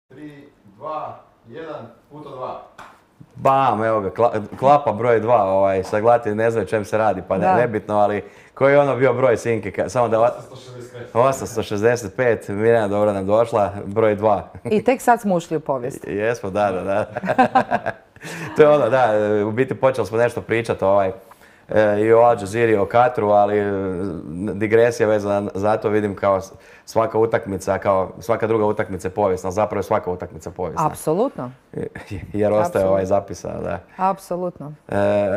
3, 2, 1, puta 2. Bam, evo ga, klapa broj 2, sad gledati ne znaju čem se radi, pa nebitno, ali koji je ono bio broj Sinke, samo da... 865, Mirjana dobro nam došla, broj 2. I tek sad smo ušli u povijest. Jesmo, da. To je ono, da, u biti počeli smo nešto pričati i o Al Jazeera i o Katru, ali digresija vezana za to vidim kao svaka utakmica, kao svaka druga utakmica je povijesna, zapravo je svaka utakmica povijesna. Apsolutno. Jer ostaje zapisano, da. Apsolutno.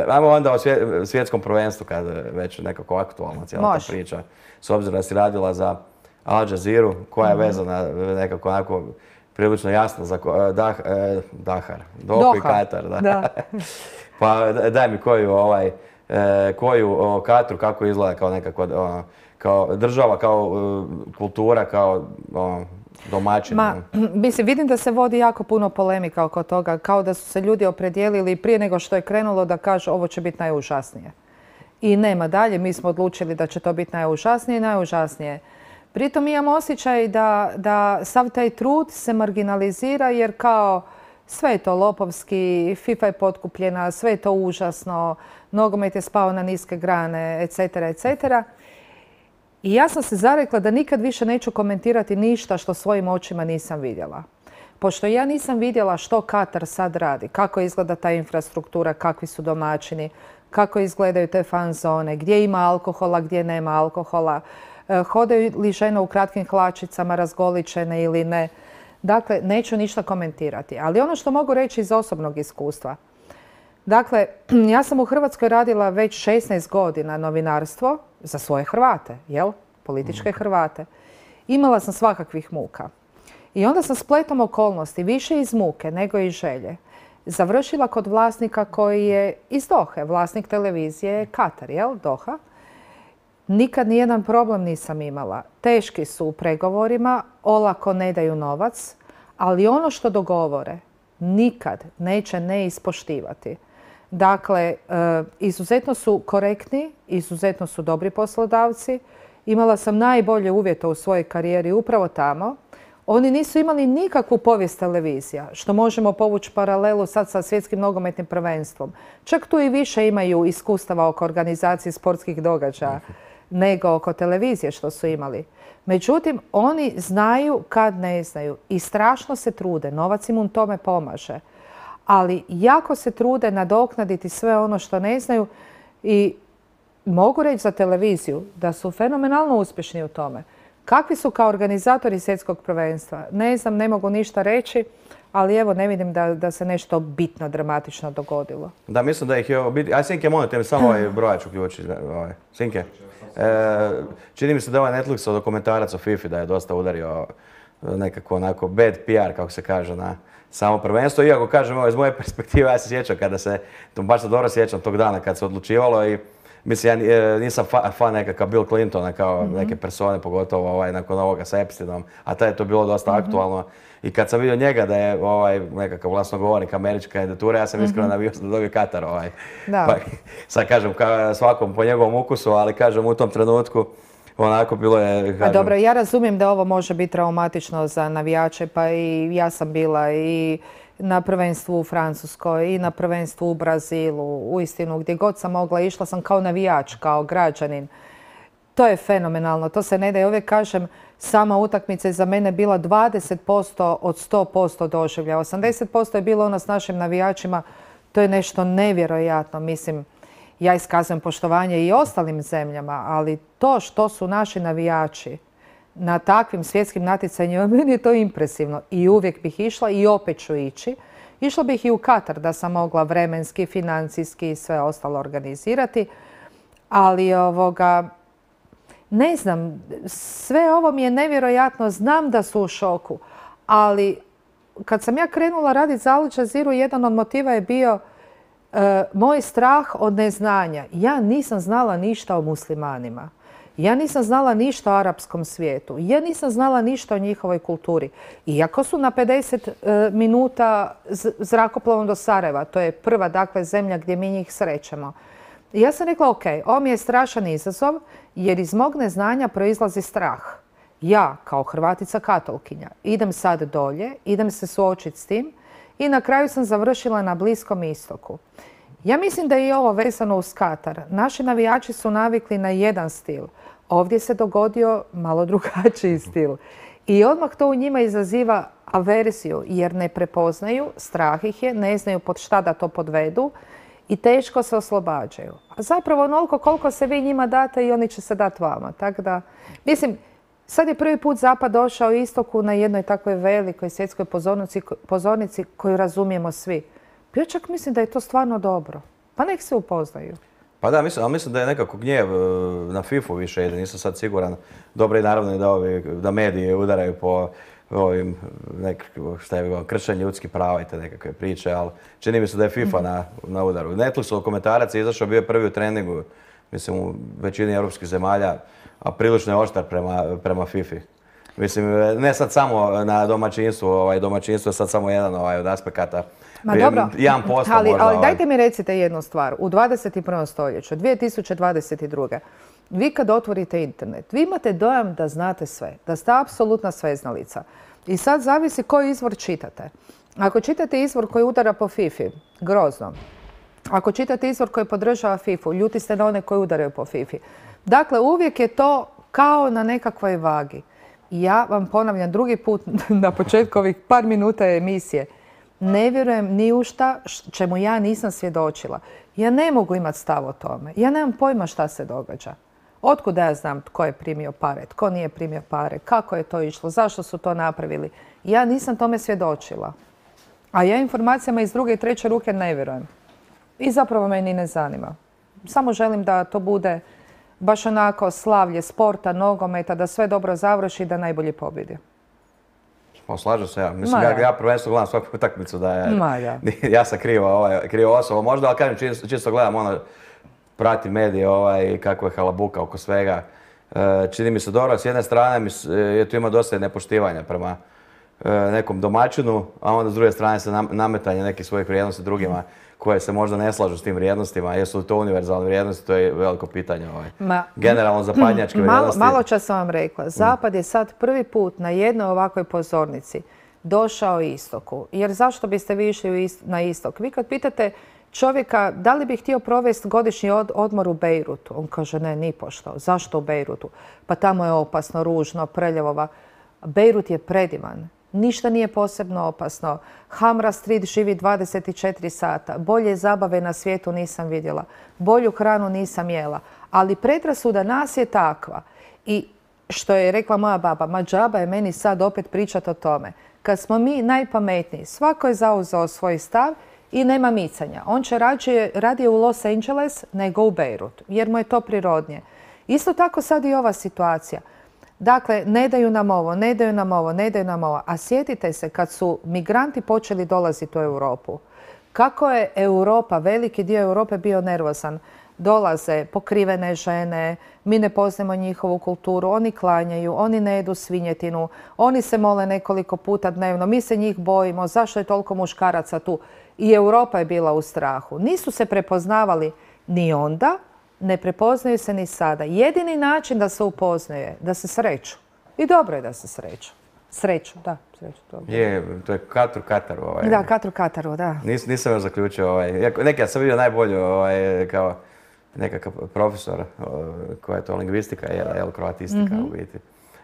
Ajmo onda o svjetskom prvenstvu, kad već nekako aktualna cijela ta priča. S obzirom da si radila za Al Jazeera, koja je vezana nekako onako prilično jasno za Dahar, Dohu i Katar. Da. Pa daj mi koju Katru, kako izgleda kao nekako kao država, kao kultura, kao domaćin. Mislim, vidim da se vodi jako puno polemika oko toga, kao da su se ljudi opredijelili prije nego što je krenulo da kažu ovo će biti najužasnije. I nema dalje, mi smo odlučili da će to biti najužasnije i najužasnije. Pritom imam osjećaj da sav taj trud se marginalizira jer kao sve je to lopovski, FIFA je potkupljena, sve je to užasno, nogomet je spao na niske grane, etc., etc. I ja sam se zarekla da nikad više neću komentirati ništa što svojim očima nisam vidjela. Pošto ja nisam vidjela što Katar sad radi, kako izgleda ta infrastruktura, kakvi su domaćini, kako izgledaju te fan zone, gdje ima alkohola, gdje nema alkohola, hodaju li žene u kratkim hlačicama razgoličene ili ne. Dakle, neću ništa komentirati. Ali ono što mogu reći iz osobnog iskustva. Dakle, ja sam u Hrvatskoj radila već 16 godina novinarstvo za svoje Hrvate, političke Hrvate. Imala sam svakakvih muka. I onda sam spletom okolnosti, više iz muke nego iz želje, završila kod vlasnika koji je iz Dohe. Vlasnik televizije je Katar, Doha. Nikad nijedan problem nisam imala. Teški su u pregovorima, olako ne daju novac, ali ono što dogovore nikad neće ne ispoštivati. Dakle, izuzetno su korektni, izuzetno su dobri poslodavci. Imala sam najbolje uvjete u svojoj karijeri upravo tamo. Oni nisu imali nikakvu povijest televizija, što možemo povući paralelu sad sa svjetskim nogometnim prvenstvom. Čak tu i više imaju iskustava oko organizacije sportskih događaja nego oko televizije što su imali. Međutim, oni znaju kad ne znaju i strašno se trude. Novac im u tome pomaže. Ali jako se trude nadoknaditi sve ono što ne znaju i mogu reći za televiziju da su fenomenalno uspješni u tome. Kakvi su kao organizatori svjetskog prvenstva? Ne znam, ne mogu ništa reći, ali evo ne vidim da se nešto bitno, dramatično dogodilo. Da, mislim da ih je... Aj, Sinke, molim te mi samo brojač uključi. Sinke, čini mi se da ovaj Netflixov dokumentarac o FIFA da je dosta udario nekako onako bad PR, kako se kaže, na samo prvenstvo. Iako kažem, iz moje perspektive, ja se sjećam kada se, baš se dobro sjećam tog dana kad se odlučivalo i mislim, ja nisam fan nekakav Bill Clintona kao neke persone, pogotovo nakon ovoga sa Epsteinom, a tada je to bilo dosta aktualno. I kad sam vidio njega da je nekakav glasnogovornik američke kandidature, ja sam iskreno navio da dobije Katar. Pa, sad kažem svakom po njegovom ukusu, ali kažem u tom trenutku onako bilo je... Pa dobro, ja razumijem da ovo može biti traumatično za navijače, pa i ja sam bila i na prvenstvu u Francuskoj i na prvenstvu u Brazilu, uistinu gdje god sam mogla, išla sam kao navijač, kao građanin. To je fenomenalno, to se ne da. Ja uvijek kažem, sama utakmica je za mene bila 20% od 100% doživlja. 80% je bilo ono s našim navijačima, to je nešto nevjerojatno. Mislim, ja iskazujem poštovanje i ostalim zemljama, ali to što su naši navijači na takvim svjetskim natjecanjima, meni je to impresivno. I uvijek bih išla i opet ću ići. Išla bih i u Katar da sam mogla vremenski, financijski i sve ostalo organizirati. Ali ne znam, sve ovo mi je nevjerojatno. Znam da su u šoku, ali kad sam ja krenula raditi za Al Jazeera, jedan od motiva je bio moj strah od neznanja. Ja nisam znala ništa o muslimanima. Ja nisam znala ništa o arapskom svijetu. Ja nisam znala ništa o njihovoj kulturi. Iako su na 50 minuta zrakoplovom do Sarajeva, to je prva zemlja gdje mi njih srećemo. Ja sam rekla, ok, ovo mi je strašan izazov jer iz mog neznanja proizlazi strah. Ja, kao Hrvatica katolkinja, idem sad dolje, idem se suočiti s tim i na kraju sam završila na Bliskom istoku. Ja mislim da je i ovo vezano uz Katar. Naši navijači su navikli na jedan stil. Ovdje se dogodio malo drugačiji stil. I odmah to u njima izaziva averziju jer ne prepoznaju, strah ih je, ne znaju pod šta da to podvedu i teško se oslobađaju. A zapravo onoliko koliko se vi njima date i oni će se dati vama. Tako da, mislim, sad je prvi put Zapad došao istoku na jednoj takvoj velikoj svjetskoj pozornici koju razumijemo svi. Ja čak mislim da je to stvarno dobro. Pa nek se upoznaju. Pa da, mislim da je nekako gnjev na FIFA više ide, nisam sad siguran. Dobro je naravno i da mediji udaraju po ovim kršenje ljudskih prava i te nekakve priče, ali čini mi se da je FIFA na udaru. Netflixov komentarac je izašao, bio je prvi u treningu, mislim u većini europskih zemalja, a prilično je oštar prema FIFA-i. Mislim, ne sad samo na domaćinstvu, domaćinstvo je sad samo jedan od aspekata. Ma dobro, 1% možda. Ali dajte mi recite jednu stvar. U 21. stoljeću, 2022. vi kad otvorite internet, vi imate dojam da znate sve, da ste apsolutna sveznalica. I sad zavisi koji izvor čitate. Ako čitate izvor koji udara po FIFA-i, grozno. Ako čitate izvor koji podržava FIFA-u, ljuti ste na one koji udaraju po FIFA-i. Dakle, uvijek je to kao na nekakvoj vagi. Ja vam ponavljam drugi put na početku ovih par minuta emisije. Ne vjerujem ni u šta čemu ja nisam svjedočila. Ja ne mogu imati stav o tome. Ja nemam pojma šta se događa. Otkud ja znam tko je primio pare, tko nije primio pare, kako je to išlo, zašto su to napravili. Ja nisam tome svjedočila. A ja informacijama iz druge i treće ruke ne vjerujem. I zapravo me ni ne zanima. Samo želim da to bude baš onako slavlje sporta, nogometa, da sve dobro završi i da najbolji pobjedi. Slažem se ja. Mislim, ja prvenstveno gledam svaku utakmicu da je... Ja sam krivo osoba možda, ali kažem, čisto gledam pratim medije kako je halabuka oko svega. Čini mi se dobro, s jedne strane tu ima dosta nepoštivanja prema nekom domaćinu, a onda s druge strane se nametanje nekih svojih vrijednosti drugima koje se možda ne slažu s tim vrijednostima. Jesu li to univerzalne vrijednosti, to je veliko pitanje. Generalno zapadnjačke vrijednosti. Malo čas sam vam rekla, Zapad je sad prvi put na jednoj ovakvoj pozornici došao istoku. Jer zašto biste vi išli na istok? Vi kad pitate čovjeka da li bi htio provesti godišnji odmor u Bejrutu, on kaže ne, nipošto. Zašto u Bejrutu? Pa tamo je opasno, ružno, prljavova. Bejrut je predivan. Ništa nije posebno opasno. Hamra Street živi 24 sata. Bolje zabave na svijetu nisam vidjela. Bolju hranu nisam jela. Ali predrasuda nas je takva. I što je rekla moja baba, ma džaba je meni sad opet pričati o tome. Kad smo mi najpametniji, svako je zauzeo svoj stav i nema micanja. On će radije u Los Angeles nego u Bejrut, jer mu je to prirodnije. Isto tako sad i ova situacija. Dakle, ne daju nam ovo, ne daju nam ovo, ne daju nam ovo. A sjetite se kad su migranti počeli dolaziti u Europu. Kako je Europa, veliki dio Europe bio nervozan. Dolaze pokrivene žene, mi ne poznajemo njihovu kulturu, oni klanjaju, oni ne jedu svinjetinu, oni se mole nekoliko puta dnevno, mi se njih bojimo, zašto je toliko muškaraca tu? I Europa je bila u strahu. Nisu se prepoznavali ni onda, ne prepoznaju se ni sada. Jedini način da se upoznaju da se sreću. I dobro je da se sreću. Sreću, da. Sreću, to je Katru Kataru. Da, Katru Kataru, da. Nisam još zaključio. Neki ja sam vidio najbolju kao nekakav profesor koja je to lingvistika, kroatistika u biti.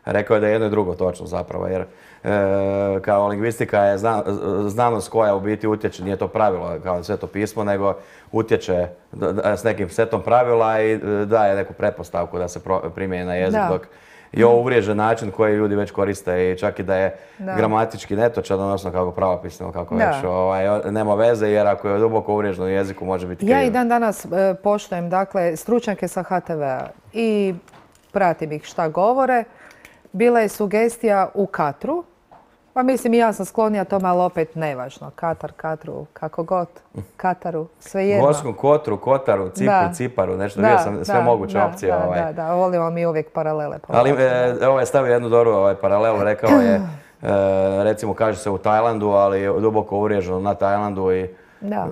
Rekao je da je jedno i drugo točno zapravo, jer kao lingvistika je znanost koja u biti utječe, nije to pravilo kao Sveto pismo, nego utječe s nekim setom pravila i daje neku pretpostavku da se primjeni na jezik, dok je ovo uvriježen način koji ljudi već koriste i čak i da je gramatički netočan, odnosno kako pravopisno, kako već, nema veze jer ako je duboko uvriježeno u jeziku može biti krivo. Ja i dan danas poštujem, dakle, stručnjake sa HTV-a i pratim ih šta govore. Bila je sugestija u Katru, pa mislim i ja sam sklonija tome, ali opet nevažno. Katar, Katru, kako god, Kataru, svejedno. Gorskom Kotru, Kotaru, Cipru, Ciparu, nešto bio sam sve moguće opcije. Da, volimo mi uvijek paralele. Ali ovo je stavio jednu dobru paralelu, rekao je, recimo kaže se u Tajlandu, ali duboko uvriježeno na Tajlandu i Da.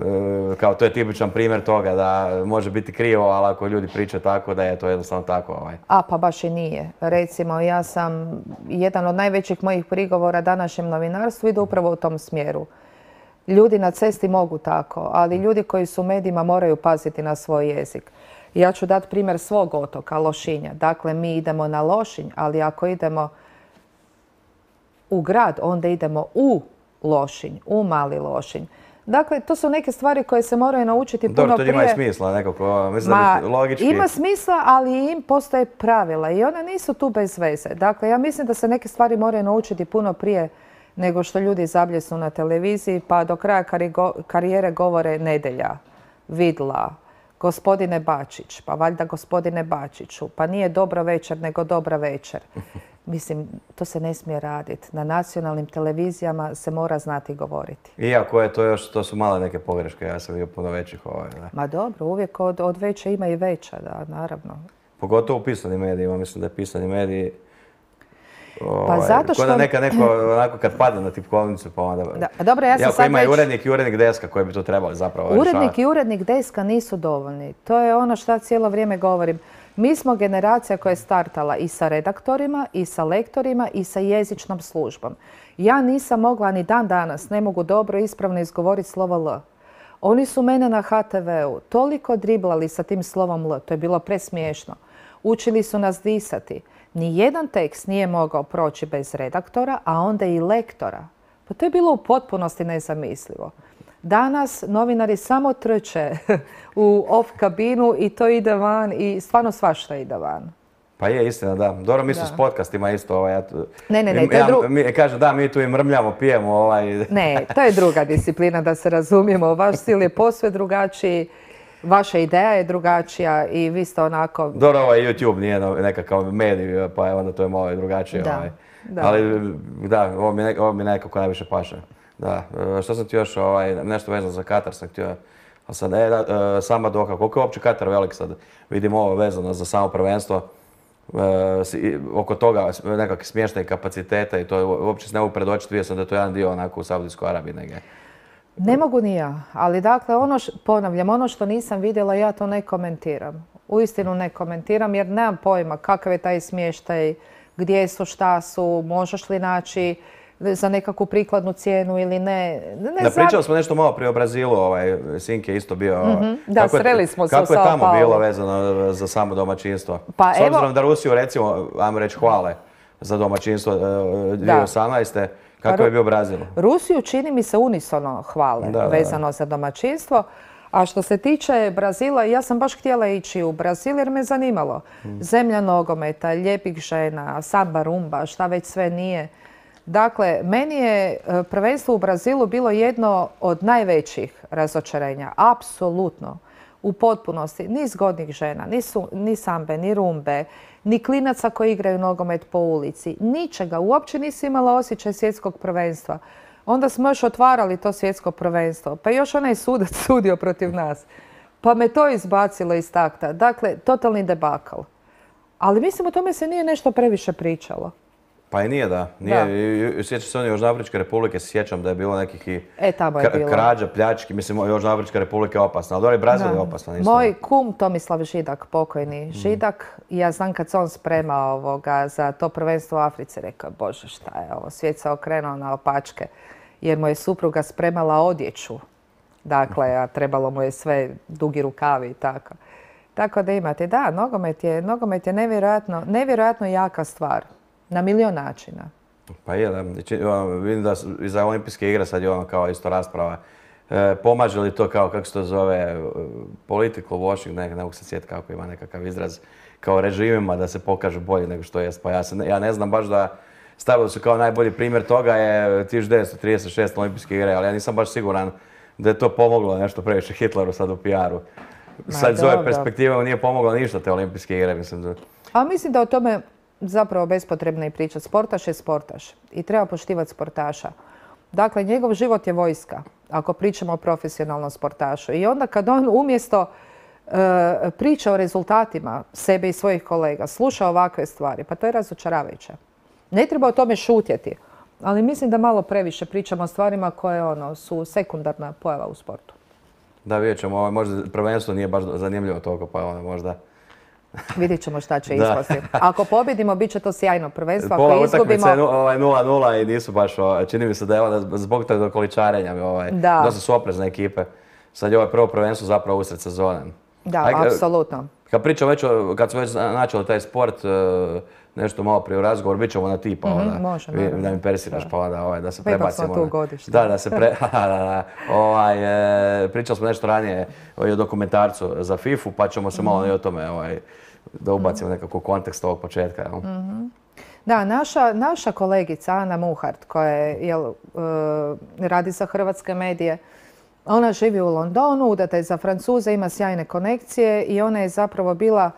Kao to je tipičan primjer toga da može biti krivo, ali ako ljudi pričaju tako da je to jednostavno tako. Pa baš i nije. Recimo, ja sam, jedan od najvećih mojih prigovora današnjem novinarstvu ide upravo u tom smjeru. Ljudi na cesti mogu tako, ali ljudi koji su u medijima moraju paziti na svoj jezik. Ja ću dati primjer svog otoka, Lošinja. Dakle, mi idemo na Lošinj, ali ako idemo u grad, onda idemo u Lošinj, u Mali Lošinj. Dakle, to su neke stvari koje se moraju naučiti puno prije. Dobro, to ima i smisla nekako, mislim da bi logički. Ima smisla, ali im postoje pravila i one nisu tu bez veze. Dakle, ja mislim da se neke stvari moraju naučiti puno prije nego što ljudi zabljesnu na televiziji, pa do kraja karijere govore nedjelja, vidla, gospodine Bačić, pa valjda gospodine Bačiću, pa nije dobro večer, nego dobra večer. Mislim, to se ne smije raditi. Na nacionalnim televizijama se mora znati govoriti. Iako je to još, to su male neke pogreške, ja sam vidio puno većih. Da. Ma dobro, uvijek od veće ima i veća, da, naravno. Pogotovo u pisanim medijima, mislim da je pisani mediji pa zato što... Kod da neko onako kad padne na tipkovnicu pa onda... Da, dobro, ja sam sad ima i urednik deska koji bi to trebali zapravo rješavati. Urednik i urednik deska nisu dovoljni. To je ono što cijelo vrijeme govorim. Mi smo generacija koja je startala i sa redaktorima, i sa lektorima, i sa jezičnom službom. Ja nisam mogla, ni dan danas, ne mogu dobro ispravno izgovoriti slovo L. Oni su mene na HTV-u toliko driblali sa tim slovom L, to je bilo presmiješno. Učili su nas disati. Nijedan tekst nije mogao proći bez redaktora, a onda i lektora. Pa to je bilo u potpunosti nezamislivo. Danas novinari samo trče u off kabinu i to ide van i stvarno svašta ide van. Pa je istina, da. Dobro, mi su s podcastima isto. Ne, to je druga... Kaže, da, mi tu i mrmljamo, pijemo. Ne, to je druga disciplina, da se razumijemo. Vaš stil je posve drugačiji. Vaša ideja je drugačija i vi ste onako... Dobro, YouTube nije nekakav medij, pa onda to je malo drugačije. Da. Ali da, ovo mi nekako najviše paše. Da. Što sam ti još, nešto vezano za Katar sam htio... Sad, sama Doha, koliko je uopće Katar velik sad? Vidimo ovo vezano za samo prvenstvo. Oko toga nekakve smještajne kapaciteta i to uopće se ne mogu predočiti. Vidio sam da je to jedan dio onako u Saudijskoj Arabiji negdje. Ne mogu ni ja, ali dakle, ponavljam, ono što nisam vidjela, ja to ne komentiram. Uistinu ne komentiram jer nemam pojma kakav je taj smještaj, gdje su, šta su, možeš li naći za nekakvu prikladnu cijenu ili ne. Pričali smo nešto malo prije o Brazilu, Sinke je isto bio. Da, sreli smo se u Sao Kako je tamo Paulo. bilo vezano za samo domaćinstvo? Pa S obzirom da Rusiju, recimo, ajmo reći hvale za domaćinstvo 2018. Kako je bio Brazil? Rusiju čini mi se unisono hvale vezano za domaćinstvo. A što se tiče Brazila, ja sam baš htjela ići u Brazil jer me zanimalo. Zemlja nogometa, lijepih žena, samba, rumba, šta već sve nije. Dakle, meni je prvenstvo u Brazilu bilo jedno od najvećih razočarenja. Apsolutno. U potpunosti. Ni zgodnih žena, ni sambe, ni rumbe, ni klinaca koji igraju nogomet po ulici. Ničega. Uopće nisi imala osjećaj svjetskog prvenstva. Onda smo još otvarali to svjetsko prvenstvo. Pa još onaj sudac sudio protiv nas. Pa me to izbacilo iz takta. Dakle, totalni debakl. Ali mislim o tome se nije nešto previše pričalo. Pa i nije, da. Sjećam se Južnoafričke republike, sjećam da je bilo nekih i krađa, pljački. Mislim, Južnoafrička republika je opasna, ali dobro, Brazil je opasna. Moj kum Tomislav Židak, pokojni Židak, ja znam kad se on spremao za to prvenstvo u Africi, rekao, Bože, šta je ovo, svijet se okrenuo na opačke, jer mu je supruga spremala odjeću. Dakle, a trebalo mu je sve dugi rukavi i tako. Tako da imate, da, nogomet je nevjerojatno jaka stvar. Na milion načina. Pa je, da. Vidim da i za olimpijske igre sad je ono kao isto rasprava. Pomaže li to kao, kako se to zove, political washing, ne mogu se sjetiti kako ima nekakav izraz, kao režimima da se pokažu bolje nego što jest. Pa ja ne znam baš da stavili su kao najbolji primjer toga je 1936 olimpijske igre, ali ja nisam baš siguran da je to pomoglo nešto previše Hitleru sad u PR-u. Sad iz ove perspektive nije pomoglo ništa te olimpijske igre, mislim. A mislim da o tome zapravo bespotrebno i pričati. Sportaš je sportaš i treba poštivati sportaša. Dakle, njegov život je vojska, ako pričamo o profesionalnom sportašu. I onda kad on umjesto priča o rezultatima sebe i svojih kolega, sluša ovakve stvari, pa to je razočaravajuće. Ne treba o tome šutjeti, ali mislim da malo previše pričamo o stvarima koje su sekundarna pojava u sportu. Da, vidjet ćemo, možda prvenstvo nije baš zanimljivo toliko, pa onda možda... Vidjet ćemo šta će Da. ispasti. Ako pobjedimo, bit će to sjajno prvenstvo. Pola Ako izgubimo... utakmice je 0-0 i nisu baš, čini mi se da je onda zbog tog dokoličarenja, Da. dosta su oprezne ekipe. Sad je ovo prvo prvenstvo zapravo usred sezone. Da, Aj, apsolutno. Kad pričamo već, kad smo već načeli taj sport, nešto malo prije u razgovor, bit ćemo na ti, pa onda može, da naravno. mi persiraš, pa onda da se Pa ipak prebacimo. smo tu godište. Da se pričali smo nešto ranije o dokumentarcu za FIFA-u, pa ćemo se malo i o tome da ubacimo nekako kontekst ovog početka. Jel? Da, naša kolegica Ana Muhart, koja radi za hrvatske medije, ona živi u Londonu, udata je za Francuze, ima sjajne konekcije i ona je zapravo bila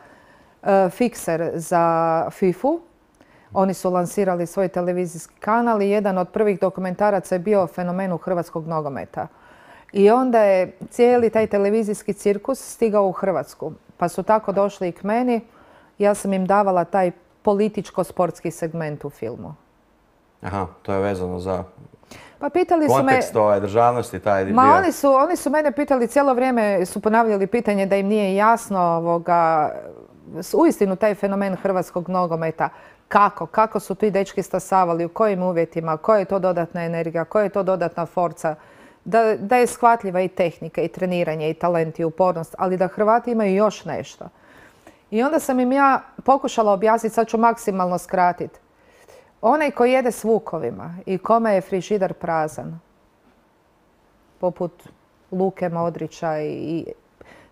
fikser za FIFA-u. Oni su lansirali svoj televizijski kanal i jedan od prvih dokumentaraca je bio o fenomenu hrvatskog nogometa. I onda je cijeli taj televizijski cirkus stigao u Hrvatsku. Pa su tako došli i k meni. Ja sam im davala taj političko-sportski segment u filmu. Aha, to je vezano za Pa pitali su me... kontekst državnosti, taj dio. Ma oni su mene pitali, cijelo vrijeme su ponavljali pitanje da im nije jasno uistinu taj fenomen hrvatskog nogometa. Kako su ti dečki stasavali, u kojim uvjetima, koja je to dodatna energija, koja je to dodatna forca. Da je shvatljiva i tehnika, i treniranje, i talent, i upornost, ali da Hrvati imaju još nešto. I onda sam im ja pokušala objasniti, sad ću maksimalno skratiti. Onaj koji jede s vukovima i kome je frižider prazan, poput Luke Modrića i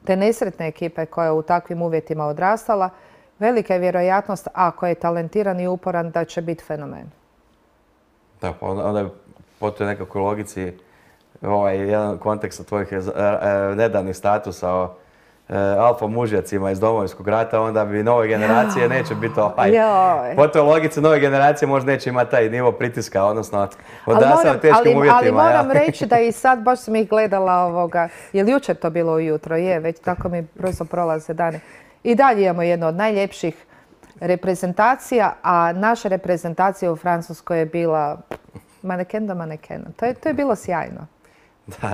te nesretne ekipe koja je u takvim uvjetima odrastala, velika je vjerojatnost, ako je talentiran i uporan, da će biti fenomen. Da, pa onda je po toj nekakvoj logici jedan kontekst od tvojih nedavnih statusa o alfa mužjacima iz Domovinskog rata, onda bi nove generacije neće biti po toj logici nove generacije možda neće imati taj nivo pritiska, odnosno odrastali u teškim uvjetima. Ali moram reći da i sad baš sam ih gledala je li jučer to bilo ujutro? Je, već tako mi brzo prolaze dani. I dalje imamo jednu od najljepših reprezentacija, a naša reprezentacija u Francuskoj je bila maneken do manekena. To je bilo sjajno. Da,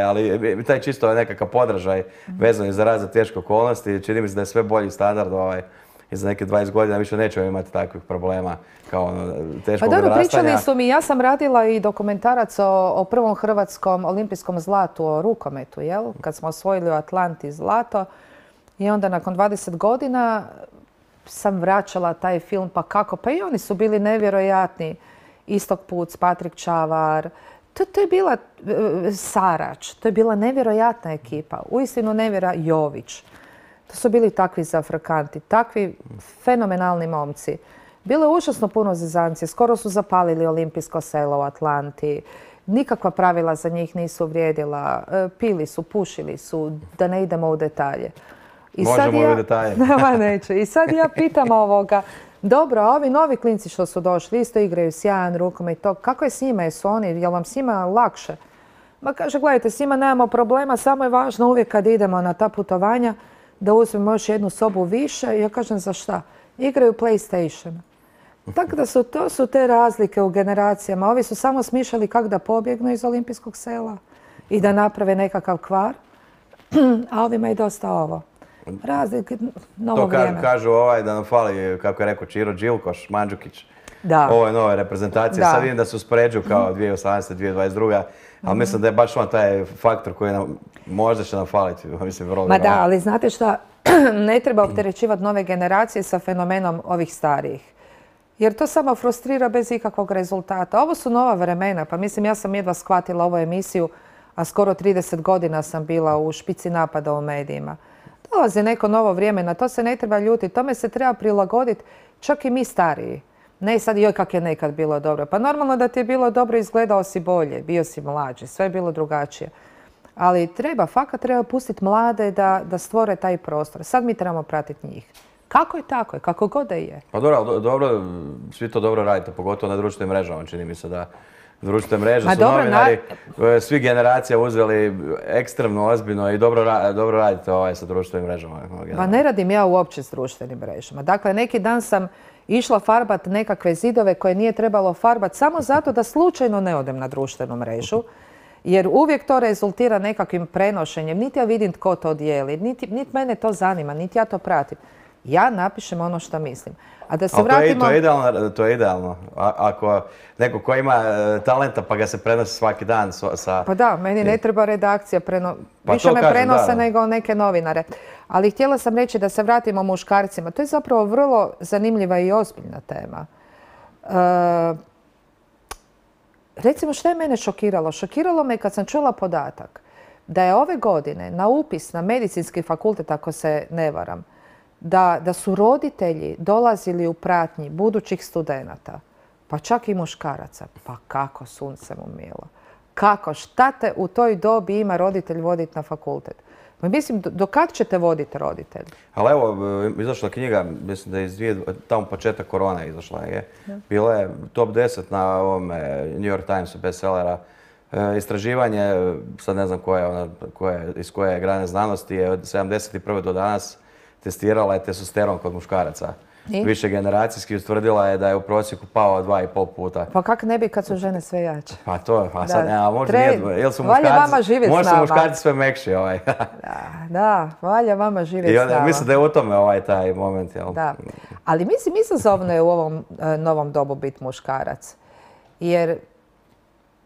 ali taj čisto nekakav podražaj vezan za razne teške okolnosti. Čini mi se da je sve bolji standard i za neke 20 godina više nećemo imati takvih problema kao teškog odrastanja. Pa dobro, pričali su mi, ja sam radila i dokumentarac o prvom hrvatskom olimpijskom zlatu, o rukometu, jel? Kad smo osvojili u Atlanti zlato. I onda nakon 20 godina sam vraćala taj film, pa kako? Pa i oni su bili nevjerojatni. Istok Puc, Patrik Čavar, to je bila Sarač, to je bila nevjerojatna ekipa. Uistinu Jović. To su bili takvi zafrakanti, takvi fenomenalni momci. Bilo je užasno puno zezancije, skoro su zapalili olimpijsko selo u Atlanti. Nikakva pravila za njih nisu vrijedila. Pili su, pušili su, da ne idemo u detalje. Možemo u detalje. Neću. I sad ja pitam dobro, a ovi novi klinci što su došli, isto igraju sjajan rukomet i to, kako je s njima, jesu oni, je li vam s njima lakše? Ma kaže, gledajte, s njima nemamo problema, samo je važno uvijek kad idemo na ta putovanja da uzmemo još jednu sobu više. Ja kažem, za šta? Igraju PlayStation. Tako da to su te razlike u generacijama. Ovi su samo smišljali kako da pobjegnu iz olimpijskog sela i da naprave nekakav kvar, a ovima je dosta ovo. Razlike, novo vrijeme. To kažu da nam fali, kako je rekao Čiro Đilkoš, Mandžukić, ove nove reprezentacije. Sad vidim da se uspoređuju kao 2018. 2022. Ali mislim da je baš taj faktor koji nam možda će nam faliti. Ma da, ali znate šta, ne treba opterećivati nove generacije sa fenomenom ovih starijih. Jer to samo frustrira bez ikakvog rezultata. Ovo su nova vremena, pa mislim ja sam jedva shvatila ovu emisiju, a skoro 30 godina sam bila u špici napada u medijima. Dolazi neko novo vrijeme, na to se ne treba ljutiti, tome se treba prilagoditi čak i mi stariji. Ne sad joj kak je nekad bilo dobro. Pa normalno da ti je bilo dobro, izgledao si bolje, bio si mlađi, sve je bilo drugačije. Ali fakat treba pustiti mlade da stvore taj prostor. Sad mi trebamo pratiti njih. Kako je tako, kako god da je. Pa dobro, svi to dobro radite, pogotovo na društvenim mrežama, čini mi se da društvene mreže su novinari, svi generacija uzeli ekstremno ozbiljno i dobro radite sa društvenim mrežama. Pa ne radim ja uopće s društvenim mrežama. Dakle, neki dan sam išla farbat nekakve zidove koje nije trebalo farbat samo zato da slučajno ne odem na društvenu mrežu. Jer uvijek to rezultira nekakvim prenošenjem. Niti ja vidim tko to dijeli, niti mene to zanima, niti ja to pratim. Ja napišem ono što mislim. A da se vratimo... To je idealno. Ako neko ko ima talenta pa ga se prenosi svaki dan sa... Pa da, meni ne treba redakcija. Više me prenose nego neke novinare. Ali htjela sam reći da se vratimo muškarcima. To je zapravo vrlo zanimljiva i ozbiljna tema. Recimo što je mene šokiralo? Šokiralo me kad sam čula podatak da je ove godine na upis na medicinski fakultet, ako se ne varam, da su roditelji dolazili u pratnji budućih studenata, pa čak i muškaraca. Pa kako, sunce mu milo? Kako? Šta te u toj dobi ima roditelj voditi na fakultet? Mislim, do kad ćete voditi roditelj? Ali evo, izašla knjiga, mislim da je tamo početak korona izašla. Bila je top 10 na ovome New York Timesu bestsellera. Istraživanje, sad ne znam iz koje grane znanosti, je od 71. do danas testirala je testosteron kod muškaraca. Više generacijski utvrdila je da je u prosjeku pao 2,5 puta. Pa kak ne bi kad su žene sve jače? Pa to, a sad nema, možda nije, jel su muškarci sve mekši. Da, valja vama živjeti s nama. Mislim da je u tome taj moment, jel? Da, ali mislim izazovno je u ovom novom dobu biti muškarac. Jer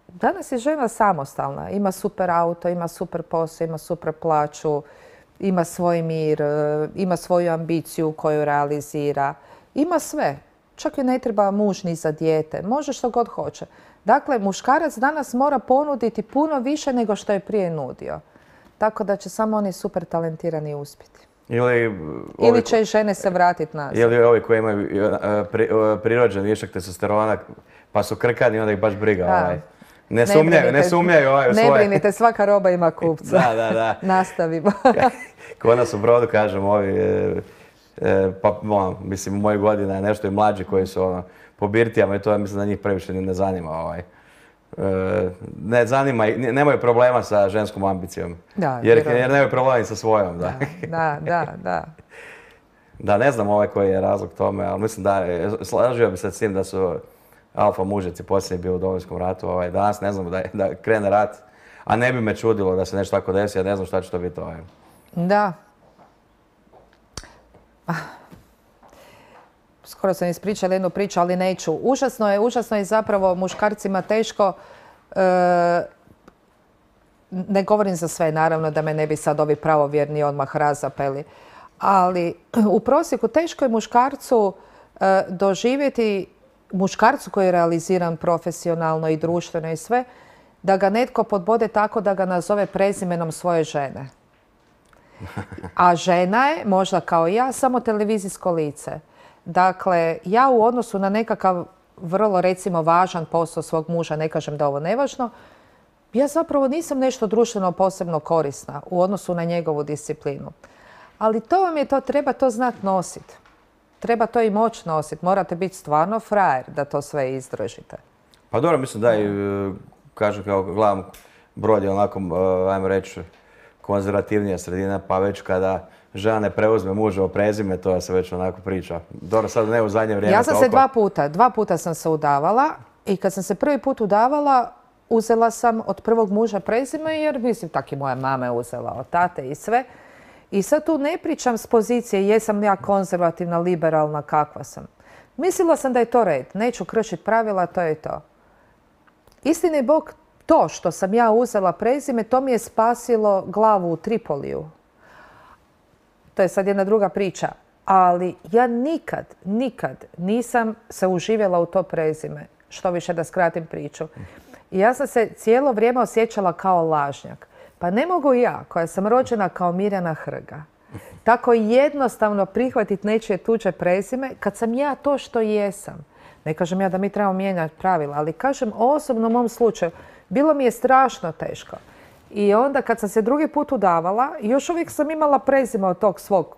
danas je žena samostalna, ima super auto, ima super posao, ima super plaću, ima svoj mir, ima svoju ambiciju koju realizira. Ima sve. Čak i ne treba muž ni za dijete. Može što god hoće. Dakle, muškarac danas mora ponuditi puno više nego što je prije nudio. Tako da će samo oni super talentirani uspjeti. Ili će i žene se vratiti nazad. Ili ovi koji imaju prirođen višak testosterona pa su krkani, onda ih baš briga. Ne sumnjaju u svoje. Ne brinite, svaka roba ima kupca. Da. Nastavimo. Kod nas u Brodu, kažem, mislim, u mojoj godini je nešto i mlađi koji su po birtijama i to mislim da njih previše ne zanima. Ne zanima, nemaju problema sa ženskom ambicijom. Jer nemaju problema i sa svojom. Da. Da, ne znam koji je razlog tome, ali mislim da slažio bi se s tim da su alfa mužeci posljednji bili u Domovinskom ratu. Danas ne znam da krene rat, a ne bi me čudilo da se nešto tako desi, ja ne znam šta će to biti. Da. Skoro sam ispričala jednu priču, ali neću. Užasno je zapravo muškarcima teško. Ne govorim za sve, naravno, da me ne bi sad ovi pravovjerni odmah razapeli. Ali u prosjeku teško je muškarcu doživjeti, muškarcu koji je realiziran profesionalno i društveno i sve, da ga netko podbode tako da ga nazove prezimenom svoje žene. A žena je, možda kao i ja, samo televizijsko lice. Dakle, ja u odnosu na nekakav vrlo, recimo, važan posao svog muža, ne kažem da ovo nevažno, ja zapravo nisam nešto društveno posebno korisna u odnosu na njegovu disciplinu. Ali treba to znati nositi. Treba to i moći nositi. Morate biti stvarno frajer da to sve izdržite. Pa dobro, mislim da i, kažem, kao gledam, Brod je onako, ajmo reći, konzervativnija sredina, pa već kada žena ne preuzme muževo prezime, to se već onako priča. Dobro, sad ne u zadnje vrijeme. Ja sam se dva puta sam se udavala i kad sam se prvi put udavala, uzela sam od prvog muža prezime, jer mislim, tak i moja mama je uzela od tate i sve. I sad tu ne pričam s pozicije jesam ja konzervativna, liberalna, kakva sam. Mislila sam da je to red. Neću kršiti pravila, to je to. Istini Bog, to što sam ja uzela prezime, to mi je spasilo glavu u Tripoliju. To je sad jedna druga priča. Ali ja nikad nisam se uživjela u to prezime. Što više da skratim priču. I ja sam se cijelo vrijeme osjećala kao lažnjak. Pa ne mogu ja, koja sam rođena kao Mirjana Hrga, tako jednostavno prihvatiti nečije tuđe prezime kad sam ja to što jesam. Ne kažem ja da mi trebamo mijenjati pravila, ali kažem o osobnom mom slučaju. Bilo mi je strašno teško. I onda kad sam se drugi put udavala, još uvijek sam imala prezime od tog svog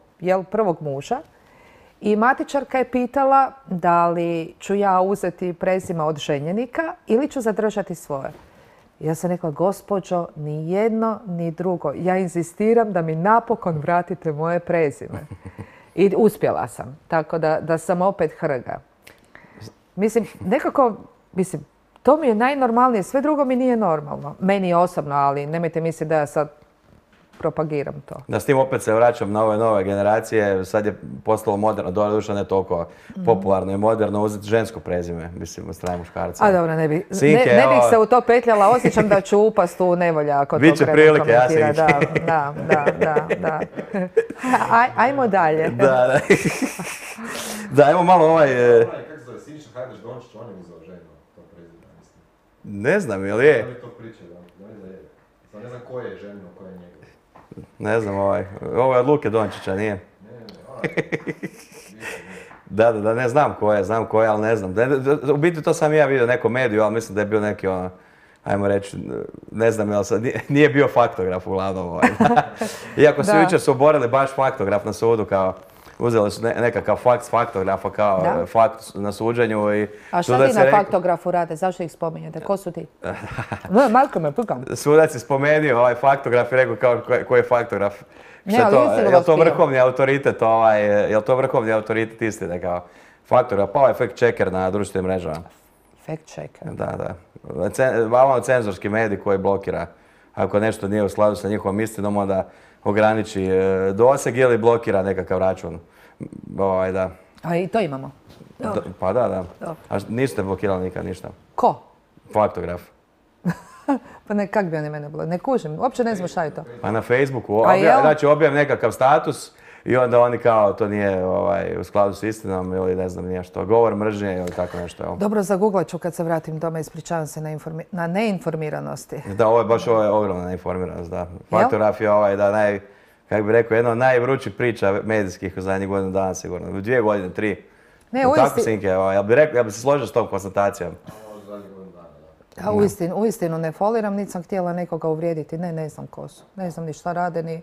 prvog muža. I matičarka je pitala da li ću ja uzeti prezime od ženjenika ili ću zadržati svoje. Ja sam rekla, gospođo, ni jedno, ni drugo. Ja inzistiram da mi napokon vratite moje prezime. I uspjela sam. Tako da sam opet Hrga. Mislim, To mi je najnormalnije, sve drugo mi nije normalno. Meni je osobno, ali nemojte misliti da ja sad propagiram to. Da s tim opet se vraćam na ove nove generacije, sad je postalo moderno, doduše ne toliko popularno i moderno uzeti žensko prezime, mislim, od strane muškarca. A dobro, ne bih Sinke, se u to petljala, osjećam da ću upast u nevolja ako to Biće prilike, ja komentira. Sinke. Da. Ajmo dalje. Da. Da, ajmo malo Kako se zove, Siniša Hajdaš Dončić, on je uzeo ženu, to prezime, mislim. Ne znam, ili je? Oni to pričaju, da je. Sad ne znam ko je ženo, ko je njegov. Ne znam, ovo je od Luke Dončića, nije? Da, ne znam ko je, ali ne znam. U biti to sam ja vidio neku mediju, ali mislim da je bio neki ajmo reći, ne znam, jel sad, nije bio faktograf uglavnom. Iako su jučer su oborili baš faktograf na sudu, kao uzeli su nekakav fakt s faktografa kao fakt na suđenju. A šta ti na faktografu rade? Zašto ih spominjete? Ko su ti? Malko me pukam. Sudac je spomenuo ovaj faktograf i rekao kao ko je faktograf. Je to vrhovni autoritet, je to vrhovni autoritet istine kao faktograf, pa ovaj fact checker na društvenim mrežama. Fact checker? Da. Malo cenzorski medij koji blokira. Ako nešto nije u skladu sa njihovom istinom, onda ograniči doseg ili blokira nekakav račun. Da. A i to imamo? Pa da. A niste blokirali nikad ništa? Ko? Faktograf. Pa ne, kak bi oni mene blokirali? Ne kužim, uopće ne znam šta je to. Pa na Facebooku, znači objavim nekakav status i onda oni kao to nije u skladu s istinom ili ne znam nije što, govor mržnje ili tako nešto. Dobro, zaguglat ću kad se vratim doma, ispričavam se na neinformiranosti. Da, ovo je baš ogromna neinformiranost, da. Faktograf je kako bi rekao, jedna od najvrućih priča medijskih u zadnjih godinu dana sigurno. 2 godine, 3. Ne, tako, Sinke, ja bi se složio s tom konstatacijom. Uistinu ne foliram, niti sam htjela nekoga uvrijediti. Ne znam ko su. Ne znam ni šta rade, ni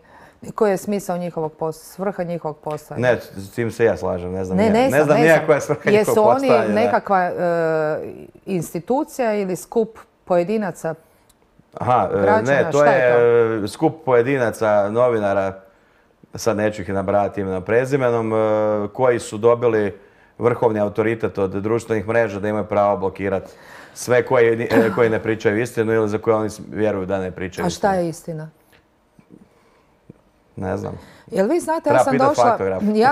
koji je smisao njihovog posla, svrha njihovog posla. Ne, s tim se ja slažem, ne znam nija koja je svrha njihovog posla. Jesu oni nekakva institucija ili skup pojedinaca građana? Ne, to je skup pojedinaca, novinara, sad neću ih nabrajati imenom prezimenom, koji su dobili vrhovni autoritet od društvenih mreža da imaju pravo blokirati sve koji ne pričaju istinu ili za koje oni vjeruju da ne pričaju istinu. A šta je istina? Ne znam. Jel vi znate, ja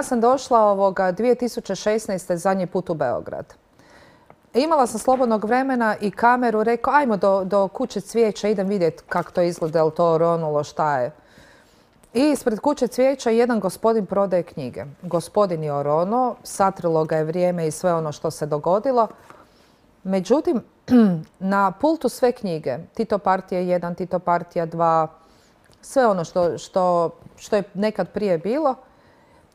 sam došla 2016. zadnji put u Beograd. Imala sam slobodnog vremena i kameru, rekao ajmo do kuće cvijeća, idem vidjeti kako to izgleda, je li to oronulo, šta je. I ispred kuće cvijeća jedan gospodin prodaje knjige. Gospodin je oronuo, satrilo ga je vrijeme i sve ono što se dogodilo. Međutim, na pultu sve knjige, Tito partija 1, Tito partija 2, sve ono što je nekad prije bilo.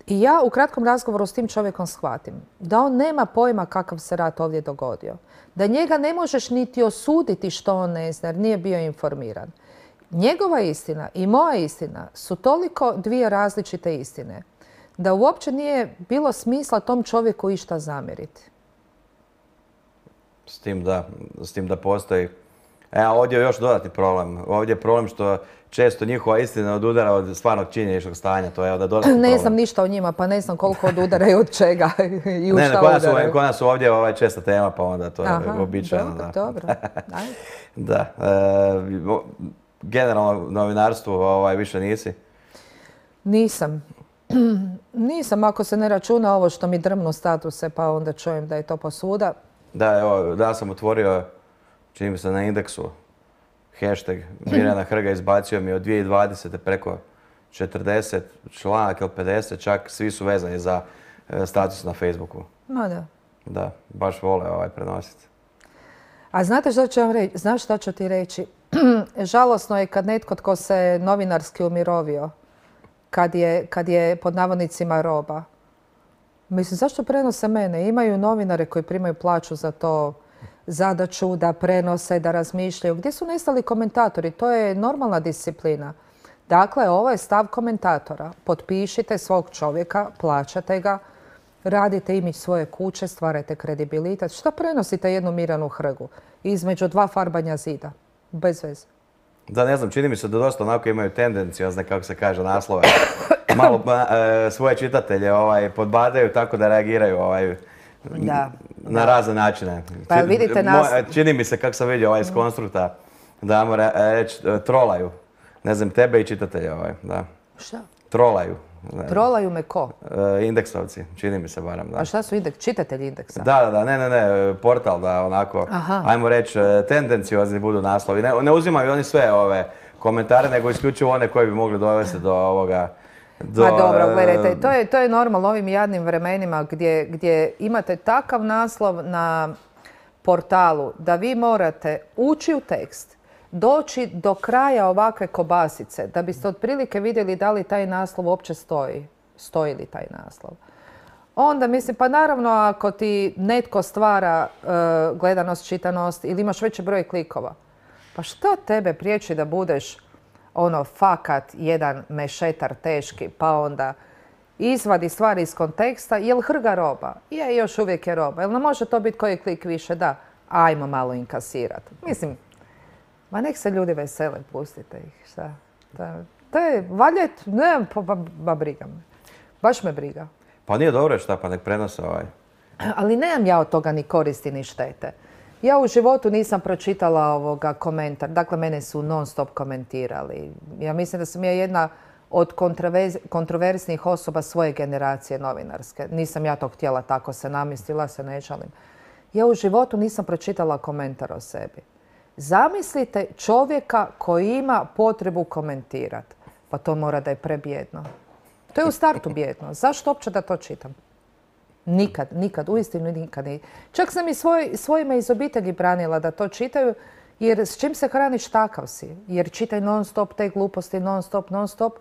I ja u kratkom razgovoru s tim čovjekom shvatim da on nema pojma kakav se rat ovdje dogodio. Da njega ne možeš niti osuditi što on ne zna jer nije bio informiran. Njegova istina i moja istina su toliko dvije različite istine da uopće nije bilo smisla tom čovjeku išta zamjeriti. S tim da postoji. Ovdje je još dodatni problem. Ovdje je problem što često njihova istina odudara od stvarnog činjeničnog stanja. To je onda dodatni problem. Ne znam ništa o njima, pa ne znam koliko odudaraju od čega i u šta udaraju. Kod nas su ovdje česta tema, pa onda to je uobičajeno. Dobro. Da. Generalno novinarstvo više nisi? Nisam. Nisam, ako se ne računa ovo što mi drmnu statuse, pa onda čujem da je to posuda. Da, evo, da sam otvorio, čini mi se na Indeksu, hashtag Mirjana Hrga izbacio mi od 2020. preko 40 članak ili 50, čak svi su vezani za status na Facebooku. Ma da. Da, baš vole prenositi. A znate što ću vam reći? Znaš što ću ti reći? Žalosno je kad netko tko se novinarski umirovio, kad je pod navodnicima roba. Mislim, zašto prenose mene? Imaju novinare koji primaju plaću za to, zadaću da prenose, da razmišljaju. Gdje su nestali komentatori? To je normalna disciplina. Dakle, ovo je stav komentatora. Potpišite svog čovjeka, plaćate ga, radite imidž svoje kuće, stvarajte kredibilitet. Šta prenosite jednu Mirjanu Hrgu između dva farbanja zida? Bez veze. Da, ne znam, čini mi se da dosta onako imaju tendenciozne, kako se kaže, naslove. Malo svoje čitatelje podbadaju tako da reagiraju na razne načine. Pa jel vidite nas... Čini mi se, kako sam vidio iz konstrukta, da ajmo reći, trolaju. Ne znam, tebe i čitatelje da. Šta? Trolaju. Trolaju me ko? Indeksovci, čini mi se barem, da. A šta su čitatelji indeksa? Da, ne, portal da onako, ajmo reći, tendenciozni budu naslovi. Ne uzimaju oni sve ove komentare, nego isključivo one koji bi mogli dovesti do ovoga... Pa dobro, gledajte, to je normalno ovim jadnim vremenima gdje imate takav naslov na portalu da vi morate ući u tekst, doći do kraja ovakve kobasice da biste otprilike vidjeli da li taj naslov uopće stoji. Stoji li taj naslov. Onda mislim, pa naravno ako ti netko stvara gledanost, čitanost ili imaš veći broj klikova, pa šta tebe priječi da budeš fakat jedan mešetar teški, pa onda izvadi stvari iz konteksta, jel hrga roba? Je, još uvijek je roba. Jel ne može to biti koji klik više? Da. Ajmo malo inkasirati. Mislim, ma nek se ljudi vesele, pustite ih. Šta? To je valjet, ne, pa briga me. Baš me briga. Pa nije dobro šta, pa nek prenose Ali nemam ja od toga ni koristi ni štete. Ja u životu nisam pročitala komentar. Dakle, mene su non stop komentirali. Ja mislim da sam ja jedna od kontroverznih osoba svoje generacije novinarske. Nisam ja to htjela, tako se namistila, se ne žalim. Ja u životu nisam pročitala komentar o sebi. Zamislite čovjeka koji ima potrebu komentirati. Pa to mora da je prebjedno. To je u startu bjedno. Zašto uopće da to čitam? Nikad, uistinu nikad. Čak sam i svojima iz obitelji branila da to čitaju, jer s čim se hraniš takav si. Jer čitaj non stop te gluposti, non stop.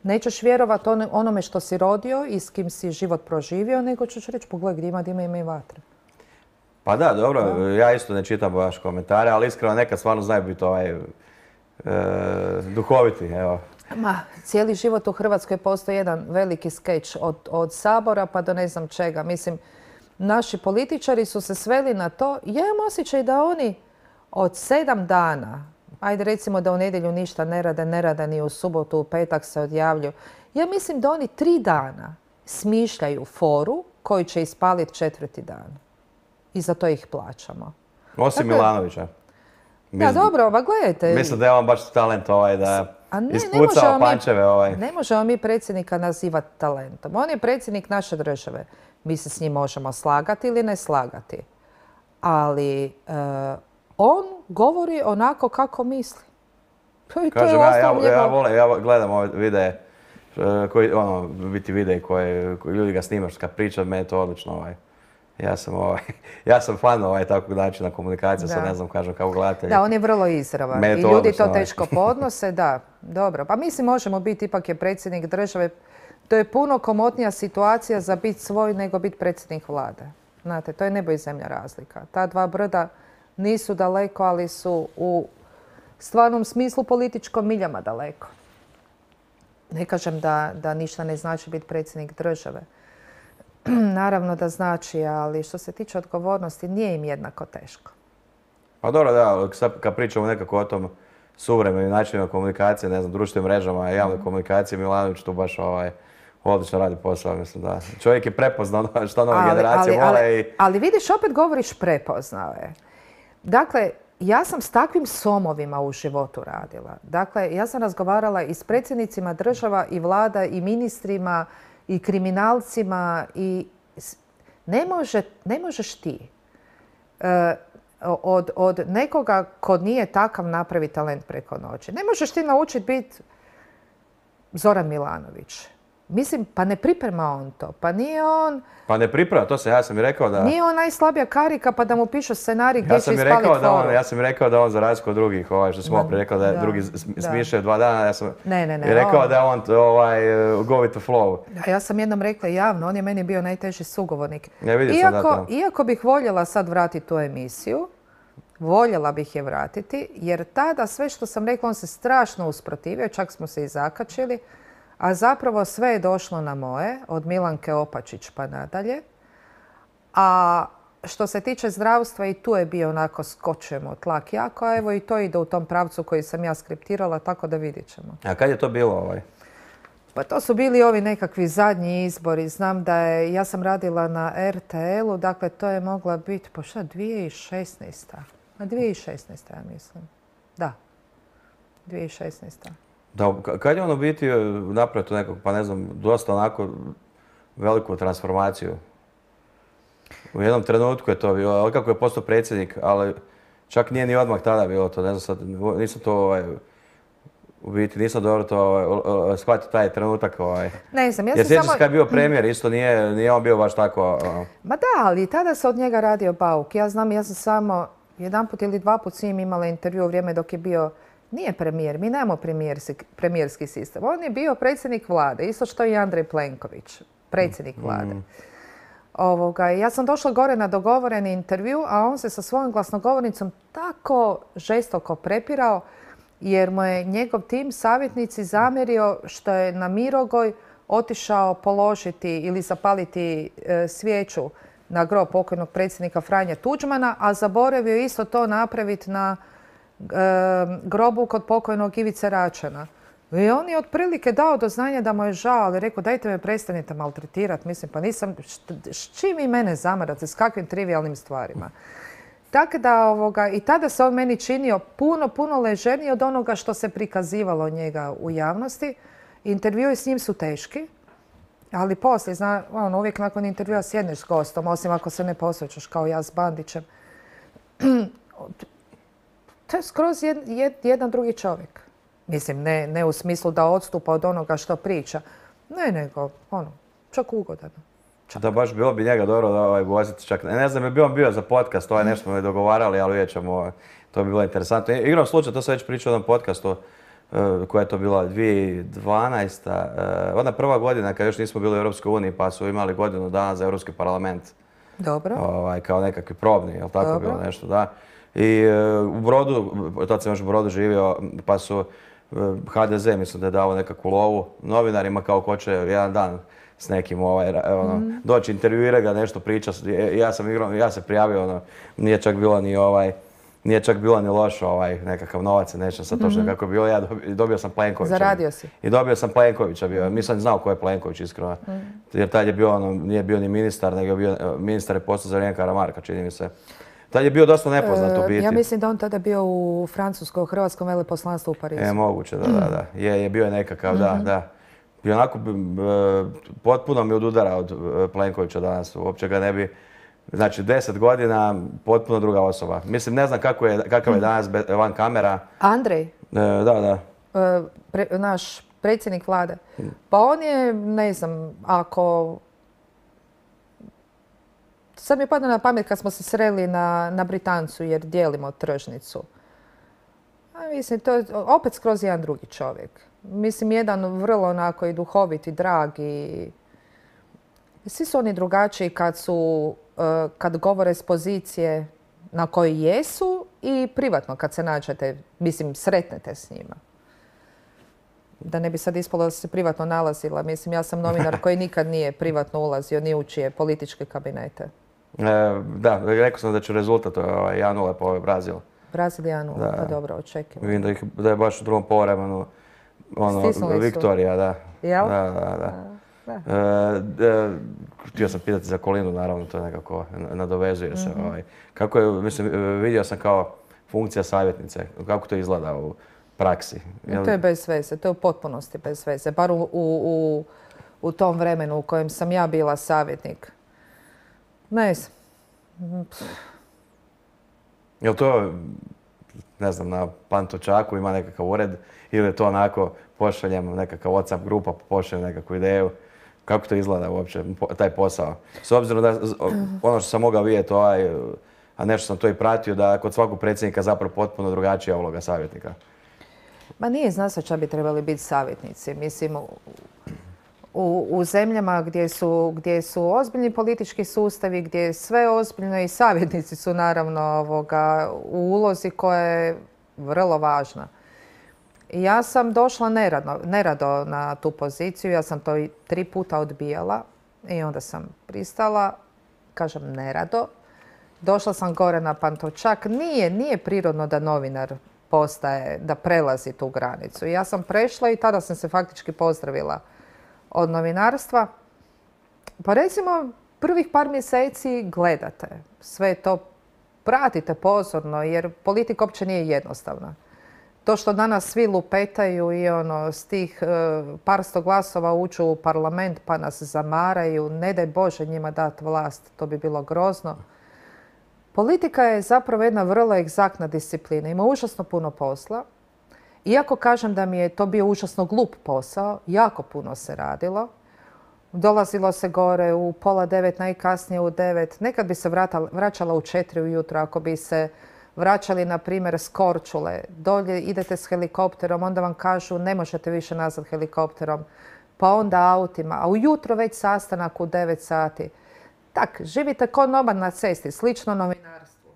Nećeš vjerovati onome što si rodio i s kim si život proživio, nego ćeš reći pogledaj gdje ima i vatre. Pa da, dobro, ja isto ne čitam baš komentare, ali iskreno nekad stvarno znaju biti duhoviti, evo. Cijeli život u Hrvatskoj postoji jedan veliki skeč od Sabora pa do ne znam čega. Mislim, naši političari su se sveli na to. Ja imam osjećaj da oni od 7 dana, ajde recimo da u nedjelju ništa ne rade ni u subotu, u petak se odjavljuju. Ja mislim da oni 3 dana smišljaju foru koju će ispaliti 4. dan. I za to ih plaćamo. Osim Milanovića. Da, dobro, pa gledajte. Mislim da je on baš talent da ispucao pančeve. Ne možemo mi predsjednika nazivati talentom. On je predsjednik naše države. Mi se s njim možemo slagati ili ne slagati. Ali on govori onako kako misli. Kažem, ja gledam ove videe, biti videi koje ljudi ga snimaš kad priča, meni je to odlično. Ja sam fan takvog načina komunikacije, sad ne znam kažem kako gledatelji. Da, on je vrlo izravan i ljudi to teško podnose, da, dobro. Pa mislim možemo biti, ipak je predsjednik države, to je puno komotnija situacija za biti svoj nego biti predsjednik vlade. Znate, to je nebo i zemlja razlika. Ta dva brda nisu daleko, ali su u stvarnom smislu političkom miljama daleko. Ne kažem da ništa ne znači biti predsjednik države. Naravno da znači, ali što se tiče odgovornosti, nije im jednako teško. Pa dobro, da, kad pričamo nekako o tom suvremenim načinima komunikacije, ne znam, društvenim mrežama, javnoj komunikaciji, Milanović tu baš odlično radi posao, mislim da. Čovjek je prepoznao što nove generacije vole i... Ali vidiš, opet govoriš prepoznao je. Dakle, ja sam s takvim somovima u životu radila. Dakle, ja sam razgovarala i s predsjednicima država i vlada i ministrima i kriminalcima i ne možeš ti od nekoga ko nije takav napravi talent preko noći. Ne možeš ti naučiti biti Zoran Milanović. Mislim, pa ne priprema on to. Pa nije on... Pa ne priprema, to ja sam i rekao da... Nije on najslabija karika pa da mu pišu scenarij gdje će ispaliti foru. Ja sam i rekao da on za razliku od drugih, što smo opet rekao da je drugi smišljaju 2 dana, ja sam rekao da je on go with the flow. Ja sam jednom rekla javno, on je meni bio najteži sugovornik. Iako bih voljela sad vratiti tu emisiju, voljela bih je vratiti, jer tada sve što sam rekla on se strašno usprotivio, čak smo se i zakačili. A zapravo sve je došlo na moje, od Milanke Opačić pa nadalje. A što se tiče zdravstva i tu je bio onako skočujemo tlak jako, a evo i to ide u tom pravcu koji sam ja skriptirala, tako da vidjet ćemo. A kad je to bilo Pa to su bili ovi nekakvi zadnji izbori. Znam da je, ja sam radila na RTL-u, dakle to je mogla biti, pa šta, 2016. Na 2016. ja mislim. Da, 2016. Da, kad je ono biti napravio tu nekog, pa ne znam, dosta onako veliku transformaciju? U jednom trenutku je to bilo, ali kako je postao predsjednik, ali čak nije ni odmah tada bilo to, ne znam sad, nisam to u biti nisam dobro to shvatio taj trenutak. Ne znam, ja jer sam sjećam samo... se kad je bio premijer, isto nije on bio baš tako... Ma da, ali tada se od njega radio bauk. Ja znam, ja sam samo jedanput ili dva put s njim imala intervju u vrijeme dok je bio... Nije premijer, mi nemamo premijerski sistem. On je bio predsjednik vlade, isto što i Andrej Plenković, predsjednik vlade. Ja sam došla gore na dogovoreni intervju, a on se sa svojom glasnogovornicom tako žestoko prepirao jer mu je njegov tim savjetnici zamjerio što je na Mirogoj otišao položiti ili zapaliti svijeću na grob pokojnog predsjednika Franje Tuđmana, a zaboravio isto to napraviti na grobu kod pokojnog Ivice Račana. I on je otprilike dao do znanja da mu je žao, ali rekao dajte me prestanite maltretirati. Mislim, pa nisam, s čim vi mene zamarate, s kakvim trivialnim stvarima. Tako da, i tada se on meni činio puno ležernije od onoga što se prikazivalo njega u javnosti. Intervjui s njim su teški, ali poslije, uvijek nakon intervjua sjedneš s gostom, osim ako se ne posvećaš kao ja s Bandićem. To je skroz jedan drugi čovjek. Mislim, ne u smislu da odstupa od onoga što priča. Ne, nego, čak ugodan. Da, baš bilo bi njega dobro da voziti čak. Ne znam, bi on bio za podcast, nešto smo mi dogovarali, ali vidjet ćemo, to bi bilo interesantno. Igrom slučaju, to sam već pričao o jednom podcastu, koja je to bila 2012. Ona prva godina kad još nismo bili u Europskoj uniji, pa su imali godinu dana za Europski parlament. Dobro. Kao nekakvi probni, jel tako Dobro. bilo nešto, da. I u Brodu, tad sam još u Brodu živio, pa su HDZ, mislim da je dao nekakvu lovu novinarima kao ko će jedan dan s nekim doći, intervjuira ga, nešto priča. Ja se prijavio, nije čak bilo ni loš nekakav novac, nećem sad točno kako je bilo. Ja dobio sam Plenkovića. Zaradio si. I dobio sam Plenkovića bio. Nisam znao ko je Plenković, iskreno. Jer tad je bio, nije bio ni ministar, nego je bio ministar je postao za vrijeme Karamarka, čini mi se. Tad je bio dosta nepoznat u biti. Ja mislim da on tada bio u Francuskoj, u Hrvatskom veleposlanstvu u Parizu. Moguće, da. Je bio nekakav, da. I onako, potpuno mi odudara od Plenkovića danas. Uopće ga ne bi... Znači, 10 godina, potpuno druga osoba. Mislim, ne znam kakav je danas van kamera. Andrej? Da. Naš predsjednik vlade. Pa on je, ne znam, ako... Sad mi je padlo na pamet kad smo se sreli na Britancu jer dijelimo tržnicu. Mislim, to je opet skroz jedan drugi čovjek. Mislim, jedan vrlo onako i duhovit i drag i... Svi su oni drugačiji kad govore s pozicije na kojoj jesu i privatno kad se nađete, mislim, sretnete s njima. Da ne bi sad ispalo da se privatno nalazila. Mislim, ja sam novinar koji nikad nije privatno ulazio ni u čije političke kabinete. Da, rekao sam da će rezultat 1-0 po Brazil. Brazil 1-0, pa dobro, očekivamo. Vidim da je baš u drugom povremenu Viktorija, da. Jel? Da. Htio sam pitati za Kolinu, naravno, to nekako nadovezuje se. Kako je, mislim, vidio sam kao funkcija savjetnice, kako to izgleda u praksi? To je bez veze, to je u potpunosti bez veze, bar u tom vremenu u kojem sam ja bila savjetnik. Ne znam. Jel to, ne znam, na Pantovčaku ima nekakav ured ili je to onako pošaljem nekakav WhatsApp grupa, pošaljem nekakvu ideju? Kako to izgleda uopće, taj posao? S obzirom da ono što sam mogao vidjeti, a nešto sam to i pratio, da kod svakog predsjednika zapravo potpuno drugačija uloga savjetnika. Ma nije, zna se šta bi trebali biti savjetnici. Mislim, u zemljama gdje su ozbiljni politički sustavi, gdje je sve ozbiljno i savjetnici su naravno u ulozi koja je vrlo važna. Ja sam došla nerado na tu poziciju, ja sam to i 3 puta odbijala i onda sam pristala, kažem nerado. Došla sam gore na Pantovčak, nije prirodno da novinar da prelazi tu granicu. Ja sam prešla i tada sam se faktički pozdravila od novinarstva. Pa recimo, prvih par mjeseci gledate, sve to pratite pozorno, jer politika uopće nije jednostavna. To što danas svi lupetaju i s tih par sto glasova uđu u parlament pa nas zamaraju, ne daj Bože njima dati vlast, to bi bilo grozno. Politika je zapravo jedna vrlo egzaktna disciplina, ima užasno puno posla. Iako kažem da mi je to bio užasno glup posao, jako puno se radilo. Dolazilo se gore u 8:30, najkasnije u 9. Nekad bi se vraćala u 4 ujutro ako bi se vraćali, na primjer, s Korčule. Dolje idete s helikopterom, onda vam kažu ne možete više nazad helikopterom, pa onda autima, a ujutro već sastanak u 9 sati. Tak, živite ko nomad na cesti, slično novinarstvu.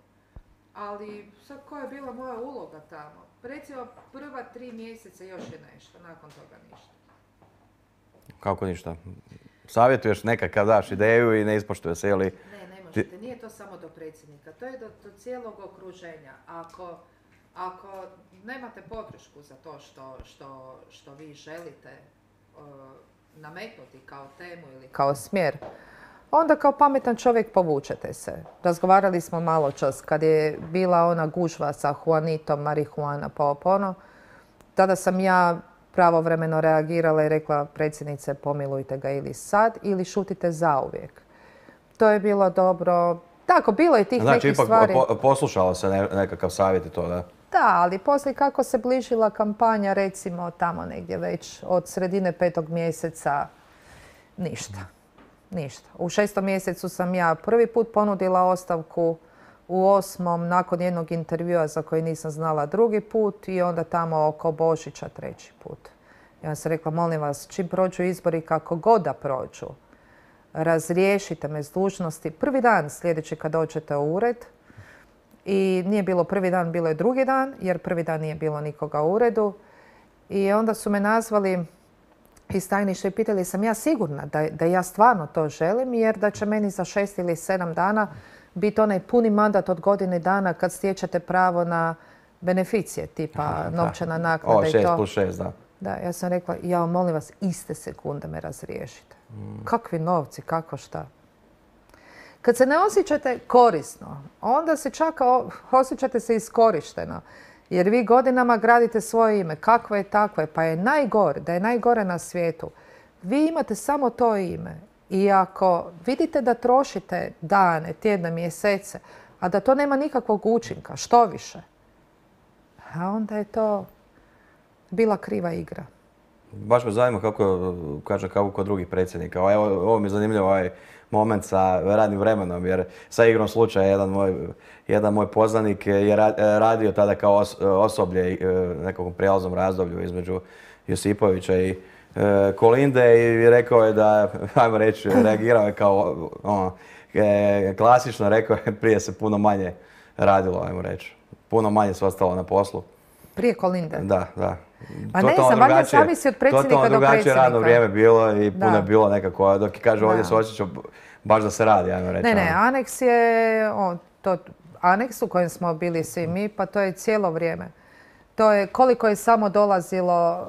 Ali sad koja je bila moja uloga tamo? Recimo, prva 3 mjeseca još je nešto, nakon toga ništa. Kako ništa? Savjetuješ nekakav, daš ideju i ne ispoštuje se, ili... Ne možete. Nije to samo do predsjednika. To je do cijelog okruženja. Ako nemate podršku za to što vi želite nametnuti kao temu ili kao smjer, onda kao pametan čovjek povučete se. Razgovarali smo malo čas kad je bila ona gužva sa Juanitom, marihuana, pa tada sam ja pravovremeno reagirala i rekla predsjednice pomilujte ga ili sad ili šutite zauvijek. To je bilo dobro. Tako, bilo je tih nekih stvari. Znači, ipak poslušalo se nekakav savjet i to, da? Da, ali poslije kako se bližila kampanja, recimo tamo negdje već od sredine 5. mjeseca, ništa. Ništa. U 6. mjesecu sam ja prvi put ponudila ostavku, u 8. nakon jednog intervjua za koji nisam znala drugi put i onda tamo oko Božića 3. put. Ja sam rekla, molim vas, čim prođu izbori, kako god da prođu, razriješite me s dužnosti. Prvi dan sljedeći kad dođete u ured, i nije bilo prvi dan, bilo je drugi dan, jer prvi dan nije bilo nikoga u uredu. I onda su me nazvali iz tajništva i pitali sam ja sigurna da ja stvarno to želim, jer da će meni za 6 ili 7 dana biti onaj puni mandat od godine dana kad stječete pravo na beneficije, tipa novčana naknada i to. 6+6, da. Da, ja sam rekla, ja molim vas, iste sekunde me razriješite. Kakvi novci, kako šta? Kad se ne osjećate korisno, onda se čak osjećate se iskorišteno. Jer vi godinama gradite svoje ime. Kakvo je takvo je, pa je najgore, da je najgore na svijetu. Vi imate samo to ime. I ako vidite da trošite dane, tjedne, mjesece, a da to nema nikakvog učinka, što više, a onda je to bila kriva igra. Baš me zanima kako kod drugih predsjednika. Ovo mi je zanimljivo, ovaj moment sa radnim vremenom, jer sa igrom slučaja jedan moj poznanik je radio tada kao osoblje nekakvom prijelaznom razdoblju između Josipovića i Kolinde i rekao je da, ajmo reći, reagirao je kao klasično, rekao je prije se puno manje radilo, ajmo reći. Puno manje se ostalo na poslu. Prije Kolinde? Da. Pa ne znam, valjda zavisi od predsjednika do predsjednika. Totalno drugačije radno vrijeme bilo i puno je bilo nekako, dok kaže ovdje se osjećao baš da se radi, ajmo reći. Ne, aneks je, aneks u kojem smo bili svi mi, pa to je cijelo vrijeme. To je koliko je samo dolazilo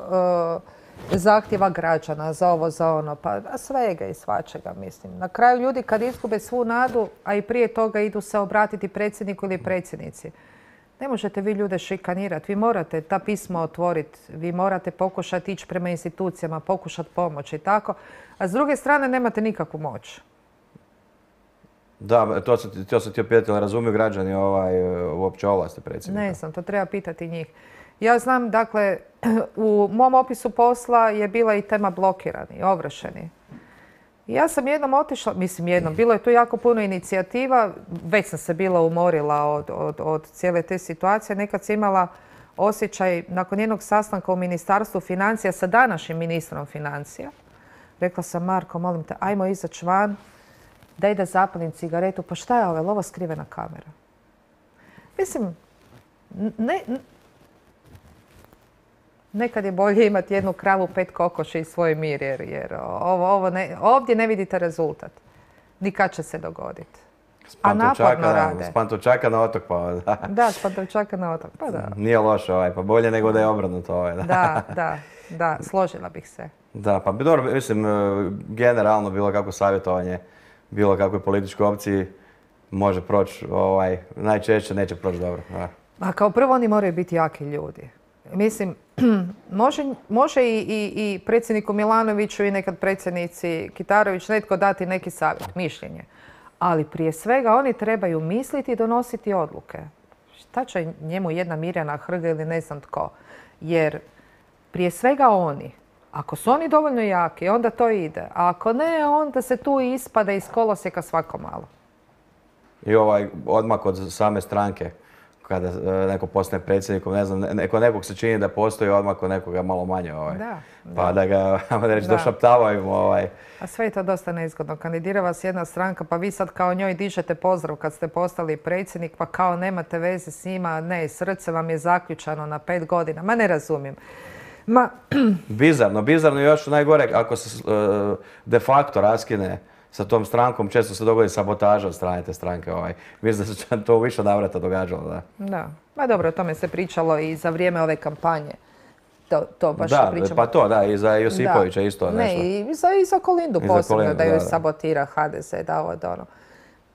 zahtjeva građana za ovo, za ono, pa svega i svačega, mislim. Na kraju ljudi kad izgube svu nadu, a i prije toga idu se obratiti predsjedniku ili predsjednici. Ne možete vi ljude šikanirati, vi morate ta pisma otvoriti, vi morate pokušati ići prema institucijama, pokušati pomoći i tako, a s druge strane nemate nikakvu moć. Da, to se ti opet razumiju građani uopće ovlasti predsjednika? Ne znam, to treba pitati njih. Ja znam, dakle, u mom opisu posla je bila i tema blokirani, ovršeni. Ja sam jednom otišla, bilo je tu jako puno inicijativa, već sam se bila umorila od cijele te situacije. Nekad sam imala osjećaj, nakon jednog sastanka u Ministarstvu financija sa današnjim ministrom financija, rekla sam, Marko, molim te, ajmo izaći van, daj da zapalim cigaretu, pa šta je ovo skrivena kamera? Mislim, nekad je bolje imati jednu kravu, 5 kokoši i svoj mir, jer ovdje ne vidite rezultat. Ni kad će se dogoditi. a naporno rade. S Pantovčaka na otok, pa da. Da, s Pantovčaka na otok, pa da. Nije loše, pa bolje nego da je obrnuto. Da, složila bih se. Da, pa dobro, mislim, generalno bilo kako savjetovanje, bilo kakvoj političkoj opciji može proći, najčešće neće proći dobro. Da. A kao prvo oni moraju biti jaki ljudi. Mislim, može i predsjedniku Milanoviću i nekad predsjednici Kitarović netko dati neki savjet, mišljenje. Ali prije svega oni trebaju misliti i donositi odluke. Šta će njemu jedna Mirjana Hrga ili ne znam tko? Jer prije svega oni, ako su oni dovoljno jaki, onda to ide. A ako ne, onda se tu ispada iz kolosijeka svako malo. I odmah od same stranke, kada neko postane predsjednikom, ne znam, nekog se čini da postoji odmah kod nekoga malo manje. Pa da ga, reći, došaptavaju. A sve je to dosta neizgodno. Kandidira vas jedna stranka, pa vi sad kao njoj dižete pozdrav kad ste postali predsjednik, pa kao nemate veze s njima, ne, srce vam je zaključano na 5 godina. Ma ne razumijem. Bizarno i još najgore, ako se de facto raskine sa tom strankom, često se dogodi sabotaža od strane te stranke. Mislim da se to u više navrata događalo. Da. Ma dobro, o tome se pričalo i za vrijeme ove kampanje. To baš pričamo. Pa to, da, i za Josipovića isto nešto. Ne, i za Kolindu posebno, da joj sabotira HDZ, da ovo da ono.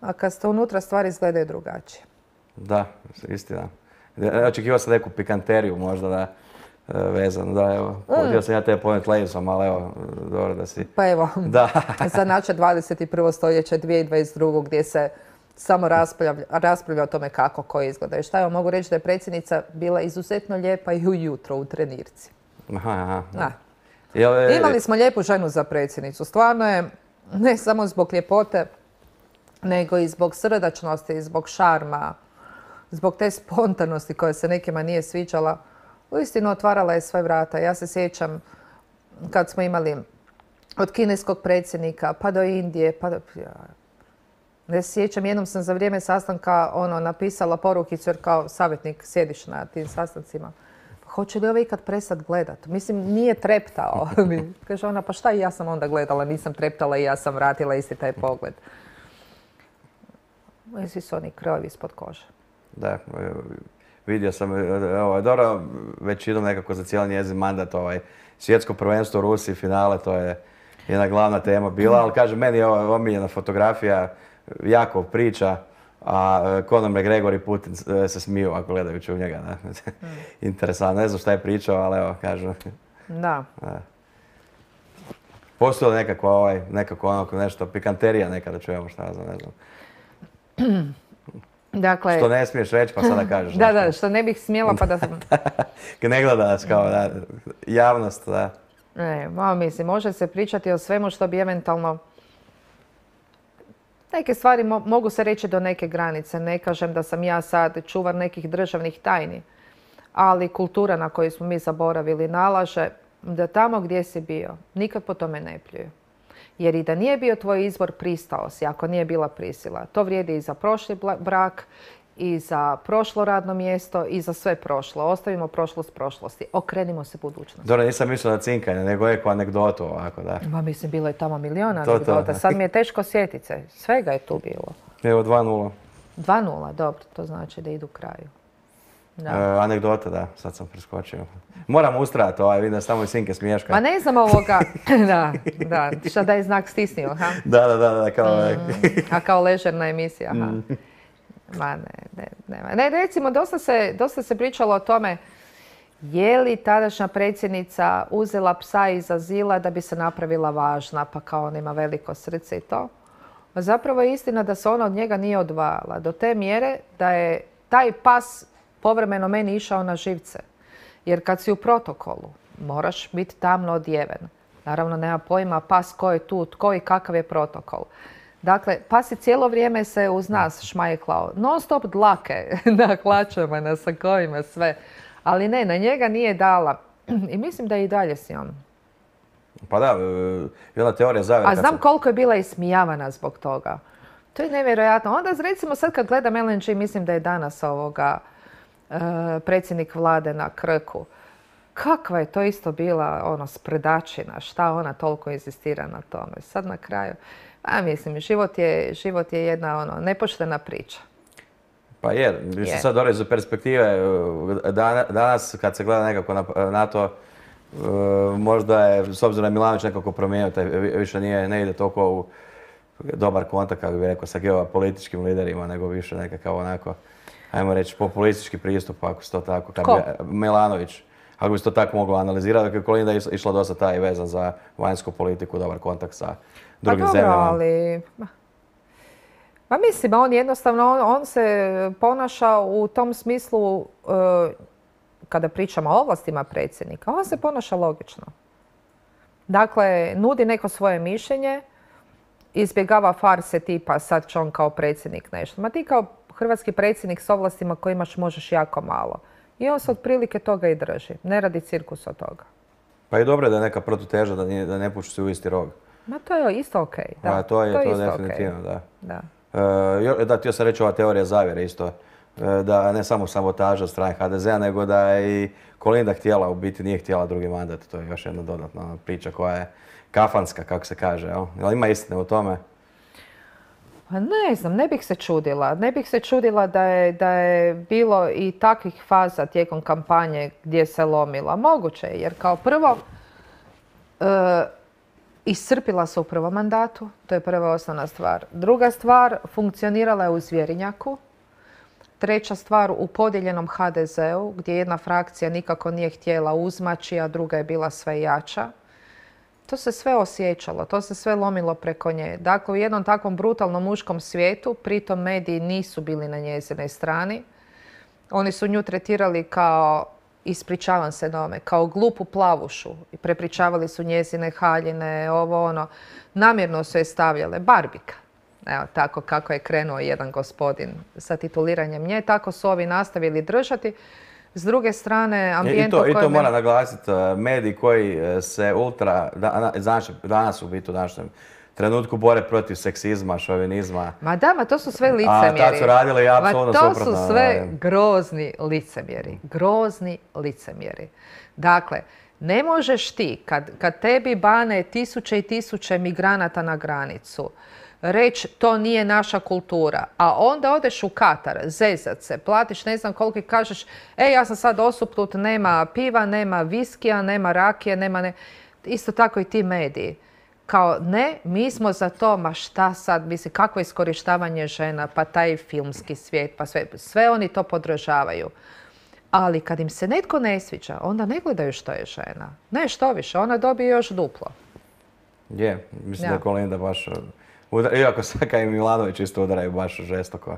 A kad ste unutra, stvari izgledaju drugačije. Da, istina. Očekivao sam neku pikanteriju možda da vezano, da, evo, htio sam ja te ponijeti Lejsom, ali evo, dobro da si... Pa evo, za naše 21. stoljeće 2022. gdje se samo raspravlja o tome kako ko izgleda. I šta, evo, mogu reći da je predsjednica bila izuzetno lijepa i ujutro u trenirci. Imali smo lijepu ženu za predsjednicu. Stvarno je, ne samo zbog ljepote, nego i zbog srdačnosti, zbog šarma, zbog te spontanosti koja se nekima nije sviđala. Uistinu otvarala je sve vrata. Ja se sjećam kad smo imali od kineskog predsjednika pa do Indije, pa do... Ne se sjećam, jednom sam za vrijeme sastanka napisala porukicu jer kao savjetnik sjediš na tim sastancima. Hoće li ovaj ikad prestati gledat? Mislim, nije treptao. Kaže ona, pa šta i ja sam onda gledala, nisam treptala i ja sam vratila isti taj pogled. Svi su oni krojevi ispod kože. Da, vidio sam, dobro, već idem nekako za cijeli njezin mandat, svjetsko prvenstvo u Rusiji, finale, to je jedna glavna tema bila, ali kažem, meni je omiljena fotografija, jako priča, a Conor McGregor i Putin se smiju ako gledajući u njega. Interesantno, ne znam šta je pričao, ali evo, kažem. Da. Postoji li nekako nešto, pikanterija nekada čujemo, šta ja znam, ne znam. Dakle, što ne smiješ reći pa sada kažeš. Da, što ne bih smjela pa da sam... Ne gleda nas kao javnost, da. Ne, mislim, može se pričati o svemu što bi eventualno... Neke stvari mogu se reći do neke granice. Ne kažem da sam ja sad čuvar nekih državnih tajni, ali kultura na koju smo mi zaboravili nalaže da tamo gdje si bio, nikad po tome ne pljuju. Jer i da nije bio tvoj izbor, pristao si, ako nije bila prisila. To vrijedi i za prošli brak, i za prošlo radno mjesto, i za sve prošlo. Ostavimo prošlost prošlosti. Okrenimo se budućnosti. Dobro, nisam mislila na cinkanje, nego neku anegdotu ovako, da. Ma mislim, bilo je tamo miliona anegdota. Sad mi je teško sjetit se. Svega je tu bilo. Evo, 2:0. 2:0, dobro. To znači da idu kraju. Anegdota, da. Sad sam preskočio. Moram ustrajati, vidim da samo i sinke smiješkaju. Ma ne znam ovoga. Da. Šta da je znak stisnio, ha? Da, kao... A kao ležerna emisija, ha? Ma ne, recimo, dosta se pričalo o tome je li tadašnja predsjednica uzela psa iz azila da bi se napravila važna, pa kao on ima veliko srce i to. A zapravo je istina da se ona od njega nije odvajala do te mjere da je taj pas povremeno meni išao na živce. Jer kad si u protokolu, moraš biti tamno odjeven. Naravno, nema pojma pas ko je tu, tko i kakav je protokol. Dakle, pas je cijelo vrijeme se uz nas šmajklao. Non stop dlake na hlačama, na sakovima, sve. Ali ne, na njega nije dala. I mislim da je i dalje s njom. Pa da, jedna teorija zavjera. A znam koliko je bila ismijavana zbog toga. To je nevjerojatno. Onda recimo sad kad gledam LNG, mislim da je danas predsjednik vlade na Krku. Kakva je to isto bila spredačina, šta ona toliko inzistira na tome. Sad na kraju, A mislim, život je jedna nepoštena priča. Pa je, mislim sad dobro iz perspektive, danas kad se gleda nekako na to, možda je, s obzirom da je Milanović nekako promijenio, više ne ide toliko u dobar kontakt, kako bih rekao, sa geopolitičkim liderima, nego više nekakav onako, ajmo reći, populistički pristup, ako se to tako, Milanović, ako bi se to tako moglo analizirati, dakle Kolinda je išla dosta taj vezan za vanjsku politiku, dobar kontakt sa drugim zemljama. Ali... Pa mislim, on jednostavno, on se ponaša u tom smislu, kada pričamo o ovlastima predsjednika, on se ponaša logično. Dakle, nudi neko svoje mišljenje, izbjegava farse tipa sad će on kao predsjednik nešto. Ma ti kao hrvatski predsjednik s ovlastima koje imaš možeš jako malo. I on se otprilike toga i drži. Ne radi cirkus od toga. Pa i dobro je da je neka protuteža, da ne puši se u isti rog. Ma to je isto okej. Da, to je definitivno, da. Da. Da, htio sam reći ova teorija zavjere isto. Da ne samo sabotaža od strane HDZ-a, nego da je i Kolinda htjela, u biti nije htjela drugi mandat. To je još jedna dodatna priča koja je kafanska, kako se kaže. Jel ima istine u tome? Pa ne znam, ne bih se čudila. Ne bih se čudila da je bilo i takvih faza tijekom kampanje gdje se lomila. Moguće je, jer kao prvo iscrpila se u prvom mandatu, to je prva osnovna stvar. Druga stvar, funkcionirala je u zvjerinjaku. Treća stvar, u podijeljenom HDZ-u, gdje jedna frakcija nikako nije htjela uzmaći, a druga je bila sve jača. To se sve osjećalo, to se sve lomilo preko nje. Dakle, u jednom takvom brutalnom muškom svijetu, pritom mediji nisu bili na njezinoj strani. Oni su nju tretirali kao, ispričavam se nome, kao glupu plavušu. I prepričavali su njezine haljine, ovo ono. Namjerno su je stavljale barbika. Evo, tako kako je krenuo jedan gospodin sa tituliranjem nje, tako su ovi nastavili držati. S druge strane, ambijent I to mora naglasiti, mediji koji se danas u biti u današnjem trenutku bore protiv seksizma, šovinizma. Ma da, to su sve licemjeri. A tad su radili apsolutno suprotno. To su sve grozni licemjeri. Grozni licemjeri. Dakle, ne možeš ti, kad tebi bane tisuće i tisuće migranata na granicu, reći to nije naša kultura, a onda odeš u Katar, zezat se, platiš ne znam koliko i kažeš ja sam sad osupnut, nema piva, nema viskija, nema rakije, nema isto tako i ti mediji. Kao ne, mi smo za to, ma šta sad, mislim, kakvo iskorištavanje žena, pa taj filmski svijet, pa sve oni to podržavaju. Ali kad im se netko ne sviđa, onda ne gledaju što je žena. Ne, što više, ona dobije još duplo. Je, mislim da je Kolinda baš... Iako sad kad i Milanović isto udaraju baš žestoko.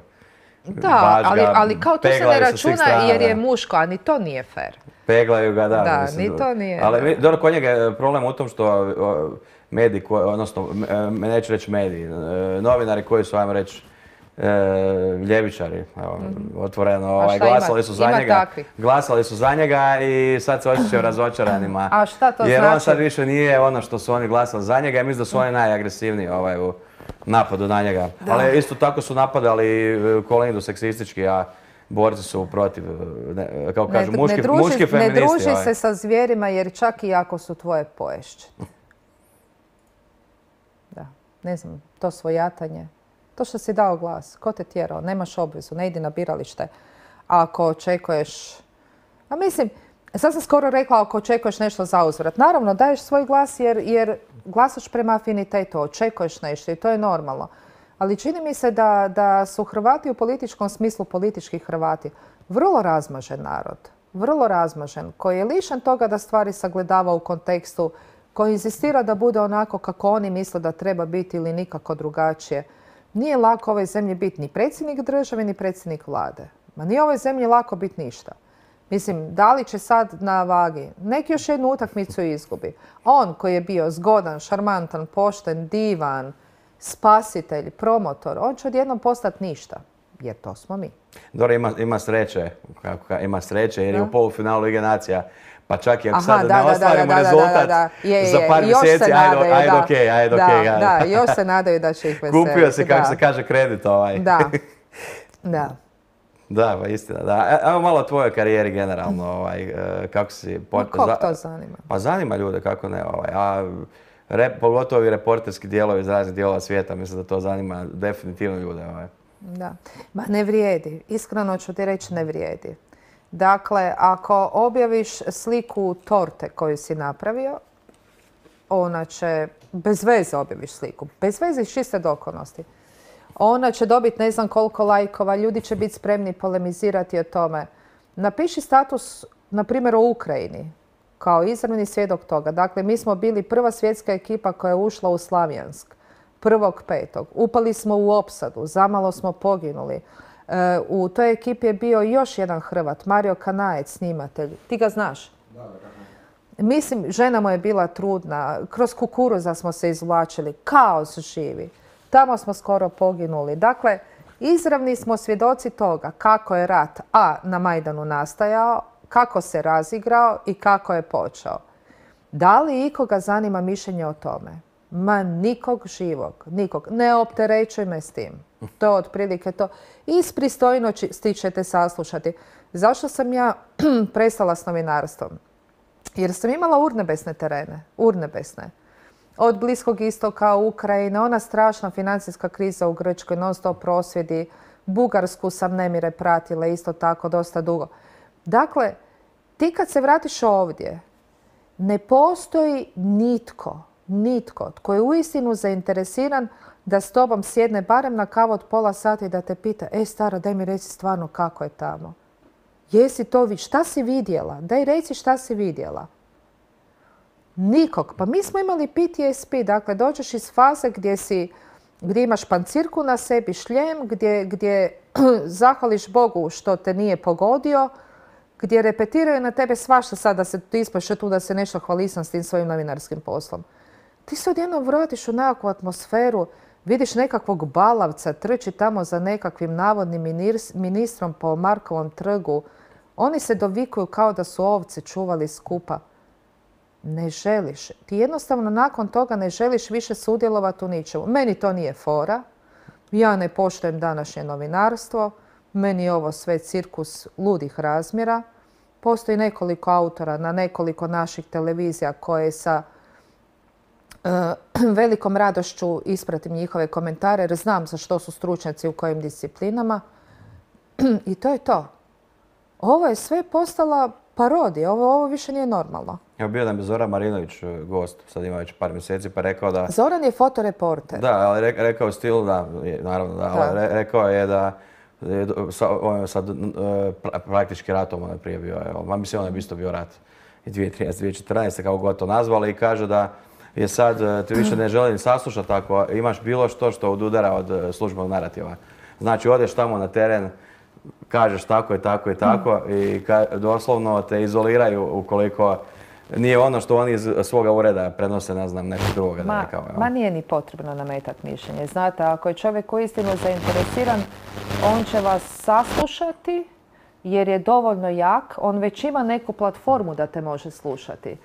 Da, ali kao to se ne računa jer je muško, a ni to nije fair. Peglaju ga, da. Da, ni to nije. Ali dobro, kod njega je problem u tom što mediji, odnosno, neću reći mediji, novinari koji su, ajmo reći, ljevičari, otvoreno, glasali su za njega i sad se osjećaju razočaranima. A šta to znači? Jer on sad više nije ono što su oni glasali za njega i mislim da su oni najagresivniji u napadu na njega. Ali isto tako su napadali Kolindu seksistički, a borci su protiv, kao kažu, muški feministi. Ne druži se sa zvijerima jer čak i ako su tvoje poješće. Da, ne znam, to svojatanje. To što si dao glas, ko te tjerao, nemaš obvezu, ne idi na biralište. Ako očekuješ, a mislim, sad sam skoro rekla ako očekuješ nešto za uzvrat. Naravno, daješ svoj glas jer glasaš prema afinitetu, očekuješ nešto i to je normalno. Ali čini mi se da su Hrvati u političkom smislu, politički Hrvati, vrlo razmažen narod. Vrlo razmažen, koji je lišen toga da stvari sagledava u kontekstu, koji inzistira da bude onako kako oni misle da treba biti ili nikako drugačije. Nije lako ovoj zemlji biti ni predsjednik države, ni predsjednik vlade. Ma nije ovoj zemlji lako biti ništa. Mislim, da li će sad na vagi neki još jednu utakmicu izgubi. On koji je bio zgodan, šarmantan, pošten, divan, spasitelj, promotor, on će odjednom postati ništa. Jer to smo mi. Dobro, ima sreće jer je u polufinalu Lige nacija. Pa čak i ako sad ne ostvarimo rezultat za par mjeseci, ajde okej. Da, još se nadaju da će ih veseliti. Kupio si, kako se kaže, kredit ovaj. Da. Da, pa istina, da. Evo malo o tvojoj karijeri generalno, kako si... Kog to zanima? Pa zanima ljude, kako ne, pogotovo i reporterski dijelovi iz raznih dijelova svijeta. Mislim da to zanima definitivno ljude. Da. Ma ne vrijedi. Iskreno ću ti reći, ne vrijedi. Dakle, ako objaviš sliku torte koju si napravio, ona će, bez veze objaviš sliku, bez veze iz čiste dokonosti. Ona će dobiti ne znam koliko lajkova, ljudi će biti spremni polemizirati o tome. Napiši status, na primjer, o Ukrajini, kao izravni svjedok toga. Dakle, mi smo bili prva svjetska ekipa koja je ušla u Slavjansk 1.5. Upali smo u opsadu, zamalo smo poginuli. U toj ekipi je bio još jedan Hrvat, Mario Kanajec, snimatelj. Ti ga znaš? Da. Mislim, žena mu je bila trudna, kroz kukuruza smo se izvlačili, kaos živi. Tamo smo skoro poginuli. Dakle, izravni smo svjedoci toga kako je rat na Majdanu nastajao, kako se razigrao i kako je počeo. Da li ikoga zanima mišljenje o tome? Ma nikog živog, nikog. Ne opterećuj me s tim. To je otprilike to. Iz pristojnosti ćete saslušati. Zašto sam ja prestala s novinarstvom? Jer sam imala urnebesne terene. Urnebesne. Od Bliskog istoka, Ukrajine, ona strašna financijska kriza u Grčkoj, non stop prosvjedi. Bugarsku sam nemire pratila isto tako dosta dugo. Dakle, ti kad se vratiš ovdje, ne postoji nitko tko je uistinu zainteresiran da s tobom sjedne barem na kavu od pola sata i da te pita, stara, daj mi reci stvarno kako je tamo. Jesi to šta si vidjela? Daj reci šta si vidjela. Nikog. Pa mi smo imali PTSP, dakle dođeš iz faze gdje imaš pancirku na sebi, šljem, gdje zahvališ Bogu što te nije pogodio, gdje repetiraju na tebe svašta sad da se ti ispaše tu da se nešto hvalisam s tim svojim novinarskim poslom. Ti se odjednom vratiš u nekakvu atmosferu, vidiš nekakvog balavca, trči tamo za nekakvim navodnim ministrom po Markovom trgu. Oni se dovikuju kao da su ovce čuvali skupa. Ne želiš. Ti jednostavno nakon toga ne želiš više sudjelovati u ničemu. Meni to nije fora. Ja ne poštujem današnje novinarstvo. Meni je ovo sve cirkus ludih razmjera. Postoji nekoliko autora na nekoliko naših televizija koje sa velikom radošću ispratim njihove komentare jer znam za što su stručnjaci u kojim disciplinama. I to je to. Ovo je sve postala parodija. Ovo više nije normalno. Evo bio nam je Zoran Marinović gost, sad ima već par mjeseci, pa rekao da... Zoran je fotoreporter. Da, ali rekao je stil, da, naravno da, ali rekao je da sad praktički ratom on je prije bio, mislim on je isto bio rat i 2013. 2014. kako god to nazvali i kaže da je sad ti više ne želi ni saslušati ako imaš bilo što odudara od službenog narativa. Znači odeš tamo na teren, kažeš tako i tako i tako i doslovno te izoliraju ukoliko nije ono što oni iz svoga ureda prenose, ne znam, nekog drugoga da rekao. Ma nije ni potrebno nametati mišljenje. Znate, ako je čovjek uistinu zainteresiran, on će vas saslušati jer je dovoljno jak. On već ima neku platformu da te može slušati.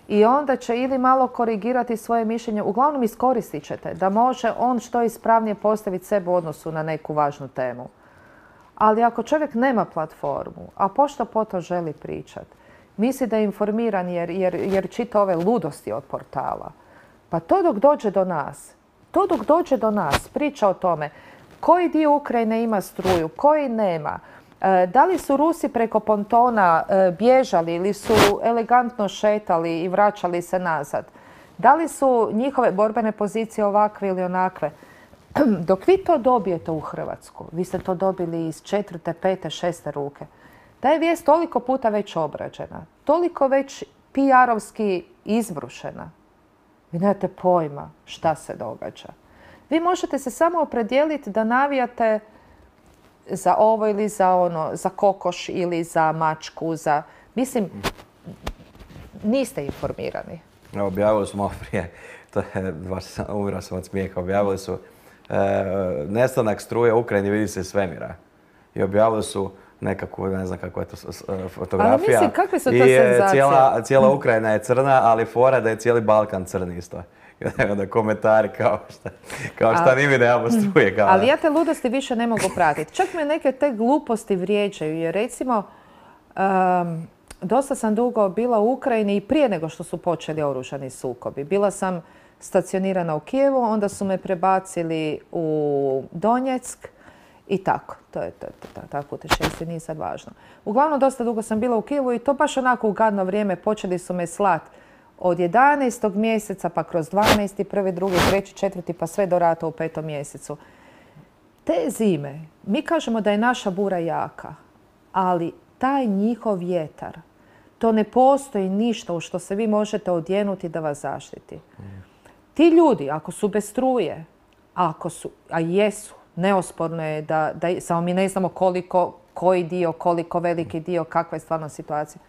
I onda će ili malo korigirati svoje mišljenje, uglavnom iskoristit ćete da može on što ispravnije postaviti sebe u odnosu na neku važnu temu. Ali ako čovjek nema platformu, a pošto po to želi pričati, misli da je informiran jer čita ove ludosti od portala, pa to dok dođe do nas, priča o tome koji dio Ukrajine ima struju, koji nema, da li su Rusi preko pontona bježali ili su elegantno šetali i vraćali se nazad, da li su njihove borbene pozicije ovakve ili onakve. Dok vi to dobijete u Hrvatsku, vi ste to dobili iz 4., 5., 6. ruke, ta je vijest toliko puta već obrađena, toliko već PR-ovski izbrušena. Vi nemate pojma šta se događa. Vi možete se samo opredijeliti da navijate za ovo ili za ono, za kokoš ili za mačku, Mislim, niste informirani. Objavili su malo prije, umirao sam od smijeha, objavili su nestanak struje u Ukrajini vidi se iz svemira. I objavili su nekakvu, ne znam kako je to fotografija. Ali mislim, kakve su to senzacije? Cijela Ukrajina je crna, ali fora da je cijeli Balkan crni isto. Da komentari kao šta ni mi nemamo struje. Ali ja te ludosti više ne mogu pratiti. Čak me neke te gluposti vrijeđaju. Jer recimo, dosta sam dugo bila u Ukrajini i prije nego što su počeli oružani sukobi. Bila sam stacionirana u Kijevu, onda su me prebacili u Donjeck i tako. To je tako utešenstvo, nije sad važno. Uglavnom, dosta dugo sam bila u Kijevu i to baš onako u gadno vrijeme. Počeli su me slat od 11. mjeseca, pa kroz 12., 1., 2., 3., 4., pa sve do rata u 5. mjesecu. Te zime, mi kažemo da je naša bura jaka, ali taj njihov vjetar, to ne postoji ništa u što se vi možete odjenuti da vas zaštiti. Ti ljudi, ako su bez struje, a jesu, neosporno je da samo mi ne znamo koji dio, koliko veliki dio, kakva je stvarno situacija.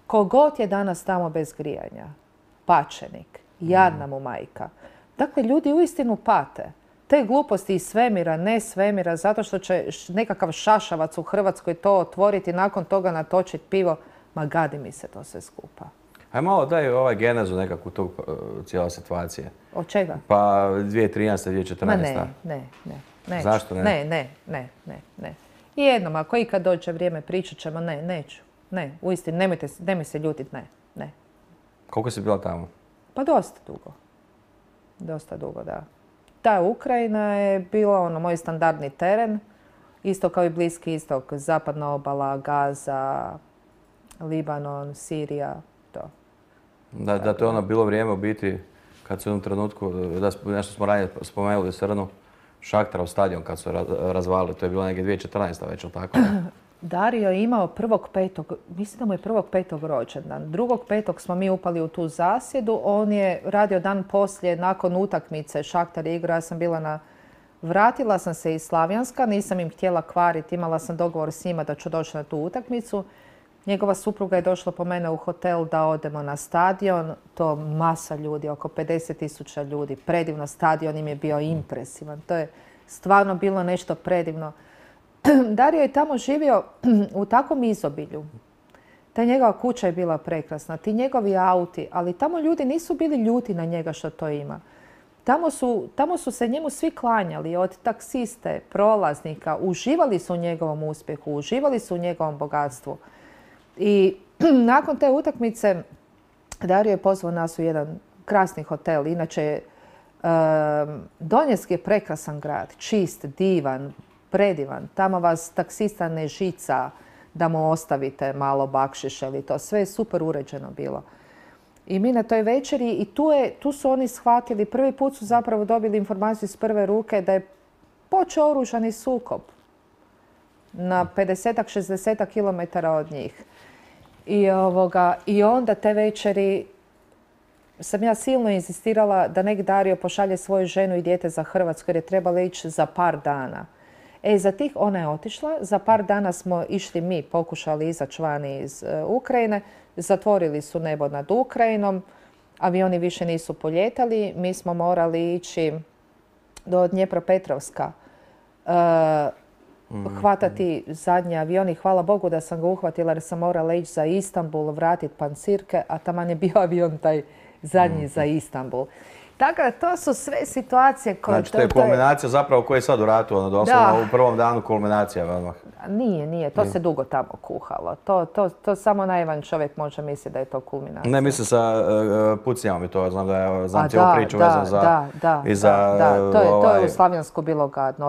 Kogod je danas tamo bez grijanja, pačenik, jadna mu majka. Dakle, ljudi uistinu pate. Te gluposti iz svemira, ne svemira, zato što će nekakav šašavac u Hrvatskoj to otvoriti, nakon toga natočiti pivo. Ma gadi mi se to sve skupa. Aj malo daj genezu nekakvu tog cijela situacije. Od čega? Pa 2013. 2014. Ma ne. Zašto ne? Ne. I jednom, ako ikad dođe vrijeme, pričat ćemo, neću. Ne, uistinu, nemoj se ljutiti, ne. Koliko si bila tamo? Pa dosta dugo. Dosta dugo, da. Ta Ukrajina je bila moj standardni teren, isto kao i Bliski istok, zapadna obala, Gaza, Libanon, Sirija, to. Da to je bilo vrijeme u biti kad su u jednom trenutku, nešto smo ranije spomenuli Srnu, Šahtarov stadion kad su razvalili, to je bilo negdje 2014. već, ili tako? Dario je imao 1.5., mislim da mu je 1.5. rođendan. 2.5. smo mi upali u tu zasjedu. On je radio dan poslije, nakon utakmice, Šahtar je igrao, ja sam bila vratila sam se iz Slavjanska, nisam im htjela kvariti, imala sam dogovor s njima da ću doći na tu utakmicu. Njegova supruga je došla po mene u hotel da odemo na stadion. To masa ljudi, oko 50.000 ljudi. Predivno, stadion im je bio impresivan. To je stvarno bilo nešto predivno. Dario je tamo živio u takvom izobilju. Ta njegova kuća je bila prekrasna, ti njegovi auti, ali tamo ljudi nisu bili ljuti na njega što to ima. Tamo su se njemu svi klanjali, od taksiste, prolaznika, uživali su u njegovom uspjehu, uživali su u njegovom bogatstvu. I nakon te utakmice Dario je pozvao nas u jedan krasni hotel. Inače, Donjeck je prekrasan grad, čist, divan, predivan. Tamo vas taksista ne žica da mu ostavite malo bakšiša ili to. Sve je super uređeno bilo. I mi na toj večeri, i tu su oni shvatili, prvi put su zapravo dobili informaciju iz prve ruke da je počeo oružani sukob na 50-60 km od njih. I onda te večeri sam ja silno insistirala da nek Dario pošalje svoju ženu i dijete za Hrvatsku jer je trebala ići za par dana. Ona je otišla, za par dana smo išli mi, pokušali izaći vani iz Ukrajine, zatvorili su nebo nad Ukrajinom, avioni više nisu poljetali, mi smo morali ići do Dnjepropetrovska, hvatati zadnji avion i hvala Bogu da sam ga uhvatila jer sam morala ići za Istanbul, vratiti pancirke, a taman je bio avion taj zadnji za Istanbul. Tako da to su sve situacije koje... Znači to je kulminacija zapravo koja je sad u ratu, doslovno u prvom danu kulminacija odmah. Nije, to se dugo tamo kuhalo. To samo naivan čovjek može misliti da je to kulminacija. Ne, mislim sa pucnjavom i to, znam cijelu priču vezanu za... To je u Slavjansku bilo gadno.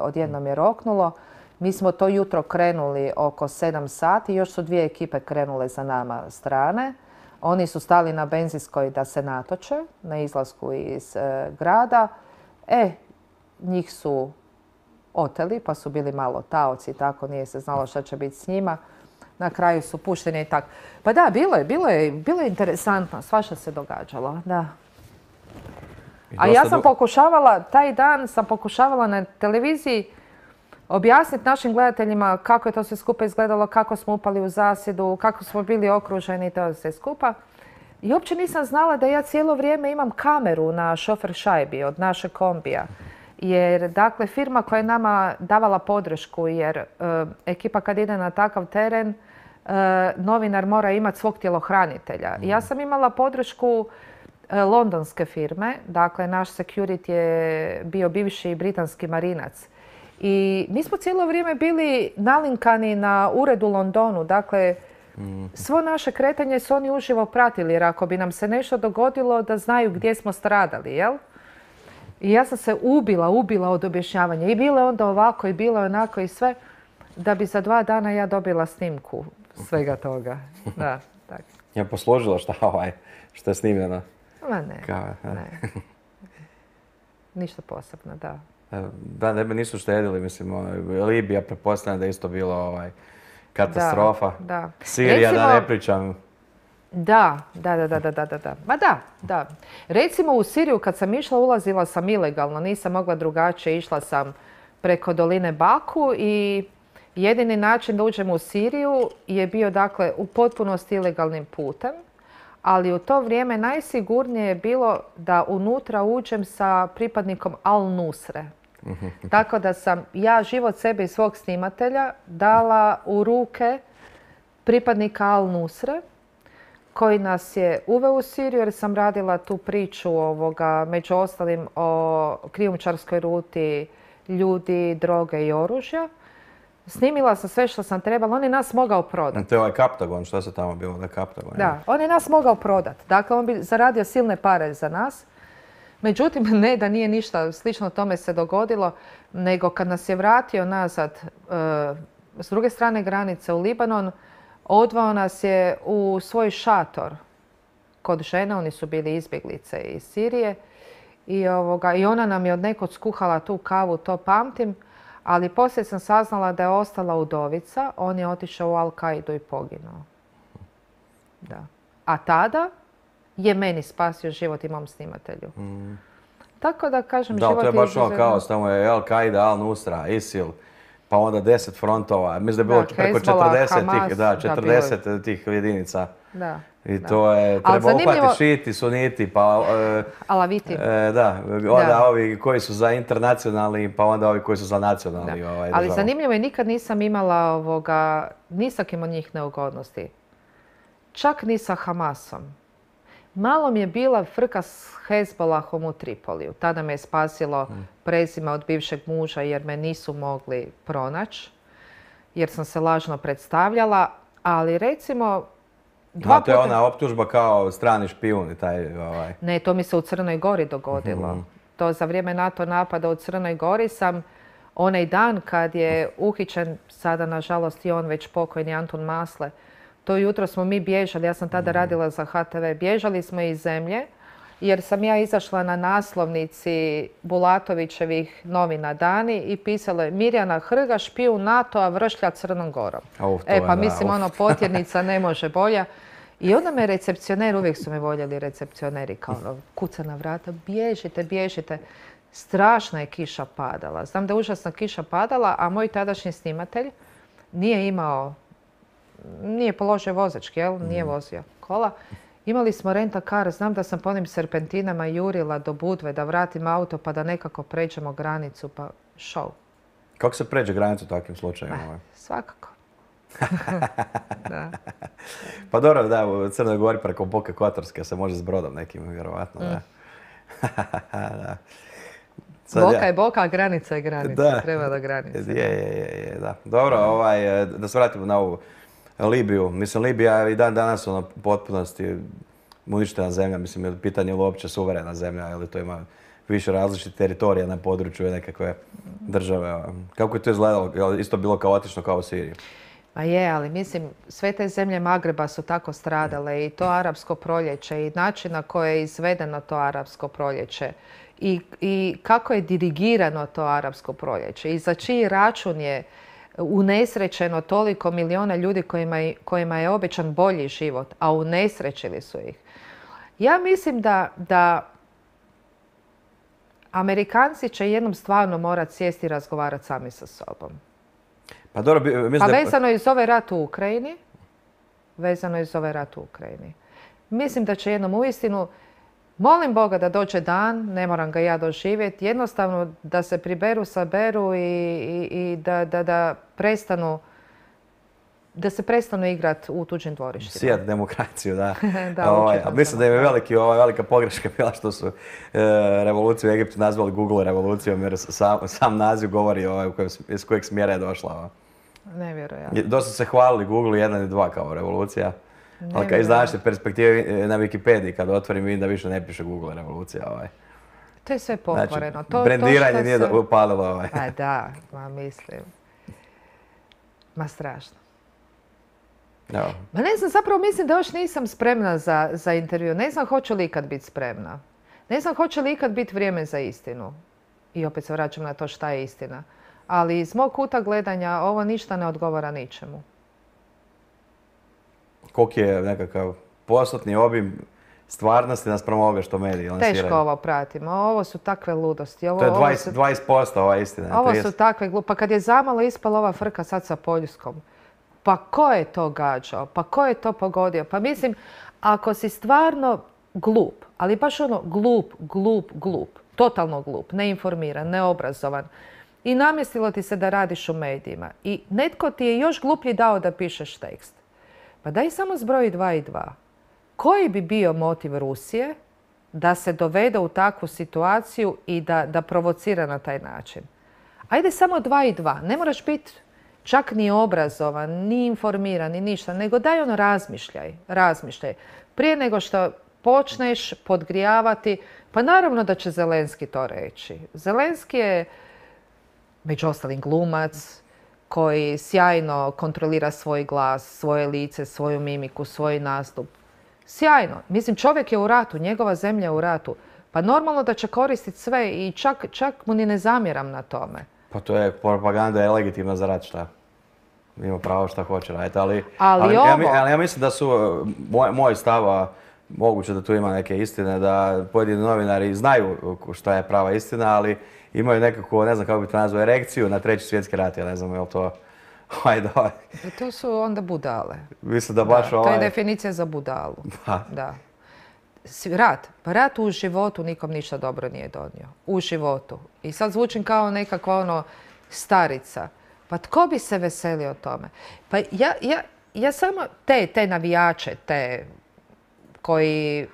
Odjednom je roknulo. Mi smo to jutro krenuli oko 7 sati, još su 2 ekipe krenule za nama strane. Oni su stali na benzinskoj da se natoče na izlasku iz grada. Njih su oteli pa su bili malo taoci, tako nije se znalo šta će biti s njima. Na kraju su pušteni i tako. Pa da, bilo je interesantno, svašta se događalo, da. A ja sam pokušavala, taj dan sam pokušavala na televiziji objasniti našim gledateljima kako je to sve skupa izgledalo, kako smo upali u zasjedu, kako smo bili okruženi i to sve skupa. I uopće nisam znala da ja cijelo vrijeme imam kameru na šofer šajbi od našeg kombija. Jer, dakle, firma koja je nama davala podršku, jer ekipa kad ide na takav teren, novinar mora imati svog tjelohranitelja. Ja sam imala podršku londonske firme, dakle, naš security je bio bivši britanski marinac. I mi smo cijelo vrijeme bili nalinkani na ured u Londonu. Dakle, Svo naše kretanje su oni uživo pratili, jer ako bi nam se nešto dogodilo, da znaju gdje smo stradali, jel? I ja sam se ubila od objašnjavanja. I bilo je onda ovako, i bilo je onako i sve, da bi za 2 dana ja dobila snimku svega toga. Da, tako. Je posložila što je snimljeno? Ma ne. Ništa posebno, da. Da, ne bi nisu štedili, mislim, Libija pretpostavljam da je isto bilo katastrofa. Da. Sirija, Recimo, da ne pričam. Da. Ma da. Recimo u Siriju kad sam išla, ulazila sam ilegalno, nisam mogla drugačije, išla sam preko doline Baku i jedini način da uđem u Siriju je bio, dakle, u potpunosti ilegalnim putem, ali u to vrijeme najsigurnije je bilo da unutra uđem sa pripadnikom Al-Nusre. Tako da sam ja život sebe i svog snimatelja dala u ruke pripadnika Al-Nusre, koji nas je uveo u Siriju, jer sam radila tu priču među ostalim o krijumčarskoj ruti ljudi, droge i oružja. Snimila sam sve što sam trebala, on je nas mogao prodati. To je ovaj Kaptagon, što se tamo bilo, da Kaptagon? Da, on je nas mogao prodati. Dakle, on bi zaradio silne pare za nas. Međutim, ne da nije ništa slično tome se dogodilo, nego kad nas je vratio nazad s druge strane granice u Libanon, odveo nas je u svoj šator kod žene, oni su bili izbjeglice iz Sirije i ona nam je od nekod skuhala tu kavu, to pamtim, ali poslije sam saznala da je ostala udovica, on je otišao u Al-Kaidu i poginuo. Da. A tada je meni spasio život i mom snimatelju. Tako da kažem, život je... Da, to je baš ono kaos, tamo je Al-Qaida, Al-Nusra, ISIL, pa onda 10 frontova. Mislim da je bilo preko 40 tih jedinica. Da. I to je, treba uhvatiti šiti, suniti, pa... Alaviti. Onda ovi koji su za internacionalni, pa onda ovi koji su za nacionalni državu. Ali zanimljivo je, nikad nisam imala ni sa kim od njih neugodnosti. Čak ni sa Hamasom. Malo mi je bila frka s Hezbolahom u Tripoliju. Tada me je spasilo prezime od bivšeg muža jer me nisu mogli pronaći. Jer sam se lažno predstavljala. Ali recimo... To je ona optužba kao strani špijun i taj... Ne, to mi se u Crnoj Gori dogodilo. To za vrijeme NATO napada u Crnoj Gori sam onaj dan kad je uhićen, sada nažalost i on već pokojni Antun Masle, to jutro smo mi bježali, ja sam tada radila za HTV, bježali smo iz zemlje jer sam ja izašla na naslovnici Bulatovićevih novina Dani i pisalo je Mirjana Hrga, špijun NATO-a vršlja Crnom Gorom. Mislim, potjernica ne može bolja. I onda me recepcioner, uvijek su me voljeli recepcioneri, kao kuca na vrata, bježite. Strašna je kiša padala. Znam da je užasna kiša padala, a moj tadašnji snimatelj nije položio vozački, nije vozio kola. Imali smo renta car, znam da sam po onim serpentinama jurila do Budve da vratim auto pa da nekako pređemo granicu, pa show. Kako se pređe granicu u takvim slučajima? Svakako. Da. Pa dobro, da, u Crnoj Gori preko Boke Kotorske se može s brodom nekim, vjerovatno, da. Boka je boka, a granica je granica. Treba da granica. Da. Dobro, da se vratimo na ovu Libiju. Mislim, Libija je i dan danas u potpunosti uništena zemlja. Mislim, pitanje je li uopće suverena zemlja, ili to ima više različitih teritorija na području nekakve države. Kako je to izgledalo? Isto bilo kaotično kao u Siriji? Pa je, ali mislim, sve te zemlje Magreba su tako stradale i to arapsko proljeće i način na koje je izvedeno to arapsko proljeće i kako je dirigirano to arapsko proljeće i za čiji račun je unesrećeno toliko miliona ljudi kojima je obećan bolji život, a unesrećili su ih. Ja mislim da Amerikanci će jednom stvarno morati sjesti i razgovarati sami sa sobom. Pa dobro, vezano je iz ovaj rat u Ukrajini. Mislim da će jednom uistinu, molim Boga da dođe dan, ne moram ga ja doživjeti, jednostavno da se priberu, saberu i da se prestanu igrati u tuđim dvorištima. Sijat demokraciju, da. Da, mislim da je velika pogreška bila što su revoluciju u Egiptu nazvali Google revolucijom, jer sam naziv govori iz kojeg smjera je došla. Nevjerojatno. Dosta se hvalili Google 1 i 2 kao revolucija. Ali kad iz Nevjerojatno. današnje perspektive na Wikipediji, kad otvorim, vidim da više ne piše Google revolucija. To je sve Znači, pokvareno. brendiranje nije upalilo. Pa da, ma mislim. Ma strašno. Evo. Ma ne znam, zapravo mislim da još nisam spremna za intervju. Ne znam hoću li ikad biti spremna. Ne znam hoće li ikad biti vrijeme za istinu. I opet se vraćam na to šta je istina. Ali iz mog kuta gledanja ovo ništa ne odgovara ničemu. Koliki je nekakav postotni obim stvarnosti naspram ovoga što mediji lansiraju? Teško ovo pratimo. Ovo su takve ludosti. To je 20% ova istina. Ovo su takve glupe. Pa kad je zamalo ispala ova frka sad sa Poljskom, pa ko je to gađao? Pa ko je to pogodio? Pa mislim, ako si stvarno glup, ali baš ono glup, totalno glup, neinformiran, neobrazovan i namjestilo ti se da radiš u medijima i netko ti je još gluplji dao da pišeš tekst, pa daj samo zbroji 2 i 2. Koji bi bio motiv Rusije da se dovede u takvu situaciju i da provocira na taj način? Ajde samo 2 i 2. Ne moraš biti čak ni obrazovan, ni informiran, ni ništa, nego daj ono razmišljaj. Prije nego što počneš podgrijavati, pa naravno da će Zelenski to reći. Zelenski je, među ostalim, glumac koji sjajno kontrolira svoj glas, svoje lice, svoju mimiku, svoj nastup. Sjajno. Mislim, čovjek je u ratu, njegova zemlja je u ratu. Pa normalno da će koristiti sve i čak mu ni ne zamjeram na tome. Pa to je propaganda, je legitimna za rat, šta? Ima pravo šta hoće raditi, ali ja mislim da su, moj stav, a moguće da tu ima neke istine, da pojedini novinari znaju šta je prava istina, ali imaju nekako, ne znam kako bi to nazvao, erekciju na 3. svjetski rat, ja ne znam je li to... To su onda budale. Mislim da baš To je definicija za budalu. Da. Rat u životu nikom ništa dobro nije donio. U životu. I sad zvučim kao nekakva starica. Pa tko bi se veselio tome? Pa ja samo te navijače, te koji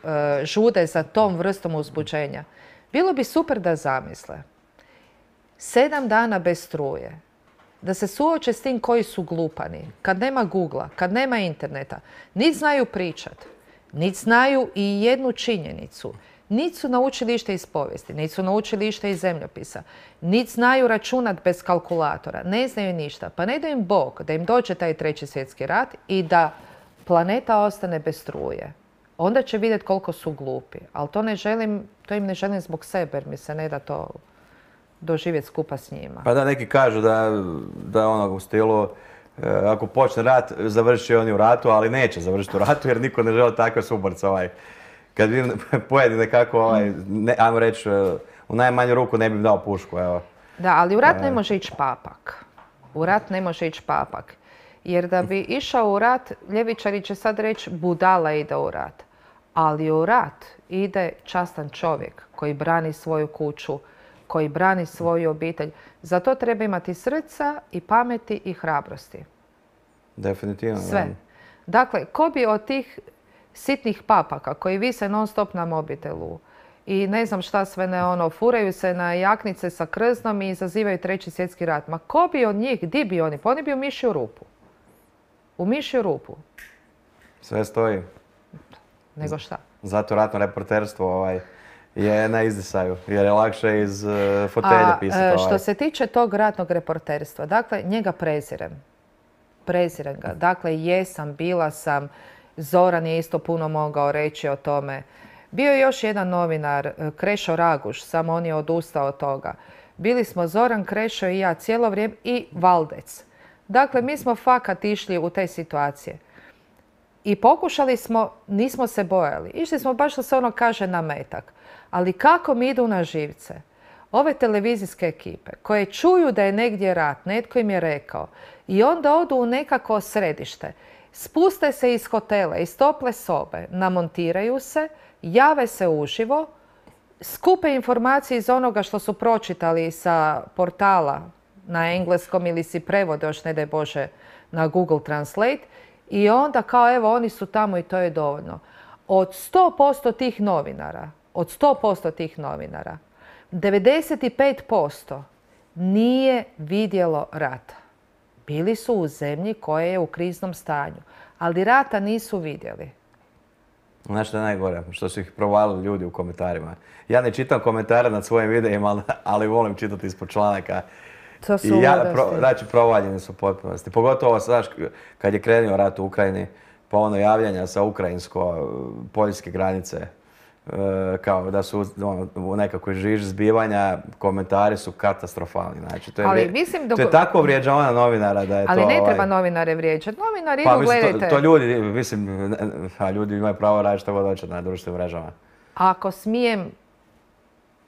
žude za tom vrstom uzbuđenja, bilo bi super da zamisle 7 dana bez struje, da se suoče s tim koji su glupani, kad nema Googlea, kad nema interneta, niti znaju pričat, niti znaju i jednu činjenicu, niti su naučili išta iz povijesti, niti su naučili išta iz zemljopisa, niti znaju računat bez kalkulatora, ne znaju ništa. Pa ne da im Bog, da im dođe taj 3. svjetski rat i da planeta ostane bez struje. Onda će vidjeti koliko su glupi. Ali to im ne želim zbog sebe, jer mi se ne da to doživjeti skupa s njima. Pa da, neki kažu da u stilu, ako počne rat, završit će oni u ratu, ali neće završiti u ratu, jer niko ne želi takve suborce. Kad vidim pojedi nekako, ajmo reći, u najmanju ruku ne bih dao pušku, evo. Da, ali u rat ne može ići papak. U rat ne može ići papak. Jer da bi išao u rat, ljevičari će sad reći budala ide u rat. Ali u rat ide častan čovjek koji brani svoju kuću, koji brani svoju obitelj. Za to treba imati srca i pameti i hrabrosti. Definitivno. Sve. Dakle, ko bi od tih sitnih papaka koji vise non stop na mobitelu i ne znam šta sve ne furaju se na jaknice sa krznom i izazivaju 3. svjetski rat. Ma ko bi od njih, di bi oni? Pa oni bi u mišju rupu. U mišju rupu. Sve stoji. Nego šta? Zato ratno reporterstvo je na izdisaju, jer je lakše iz fotelje pisati. Što se tiče tog ratnog reporterstva, dakle, njega prezirem. Prezirem ga. Dakle, jesam, bila sam, Zoran je isto puno mogao reći o tome. Bio je još jedan novinar, Krešo Raguš, samo on je odustao od toga. Bili smo Zoran, Krešo i ja cijelo vrijeme i Valdec. Dakle, mi smo fakat išli u te situacije. I pokušali smo, nismo se bojali. Išli smo baš što se kaže na metak. Ali kako mi idu na živce? Ove televizijske ekipe koje čuju da je negdje rat, netko im je rekao, i onda odu u nekako središte, spuste se iz hotela, iz tople sobe, namontiraju se, jave se uživo, skupe informacije iz onoga što su pročitali sa portala na engleskom ili si prevode, još ne daj Bože, na Google Translate, i onda kao evo oni su tamo i to je dovoljno. Od 100% tih novinara, 95% nije vidjelo rata. Bili su u zemlji koja je u kriznom stanju, ali rata nisu vidjeli. Znaš što je najgore? Što su ih provalili ljudi u komentarima. Ja ne čitam komentare nad svojim videima, ali volim čitati ispod članaka. To su Znači, provaljeni su u potpunosti. Pogotovo, znaš, kad je krenuo rat u Ukrajini, pa ono javljanja sa ukrajinsko-poljske granice, kao da su u nekakvoj žiži zbivanja, komentari su katastrofalni. Znači, to je tako vrijeđavanje novinara da je to... Ali ne treba novinare vrijeđati. Novinari idu, gledajte. To ljudi, mislim, ljudi imaju pravo raditi što god hoće na društvenim mrežama. Ako smijem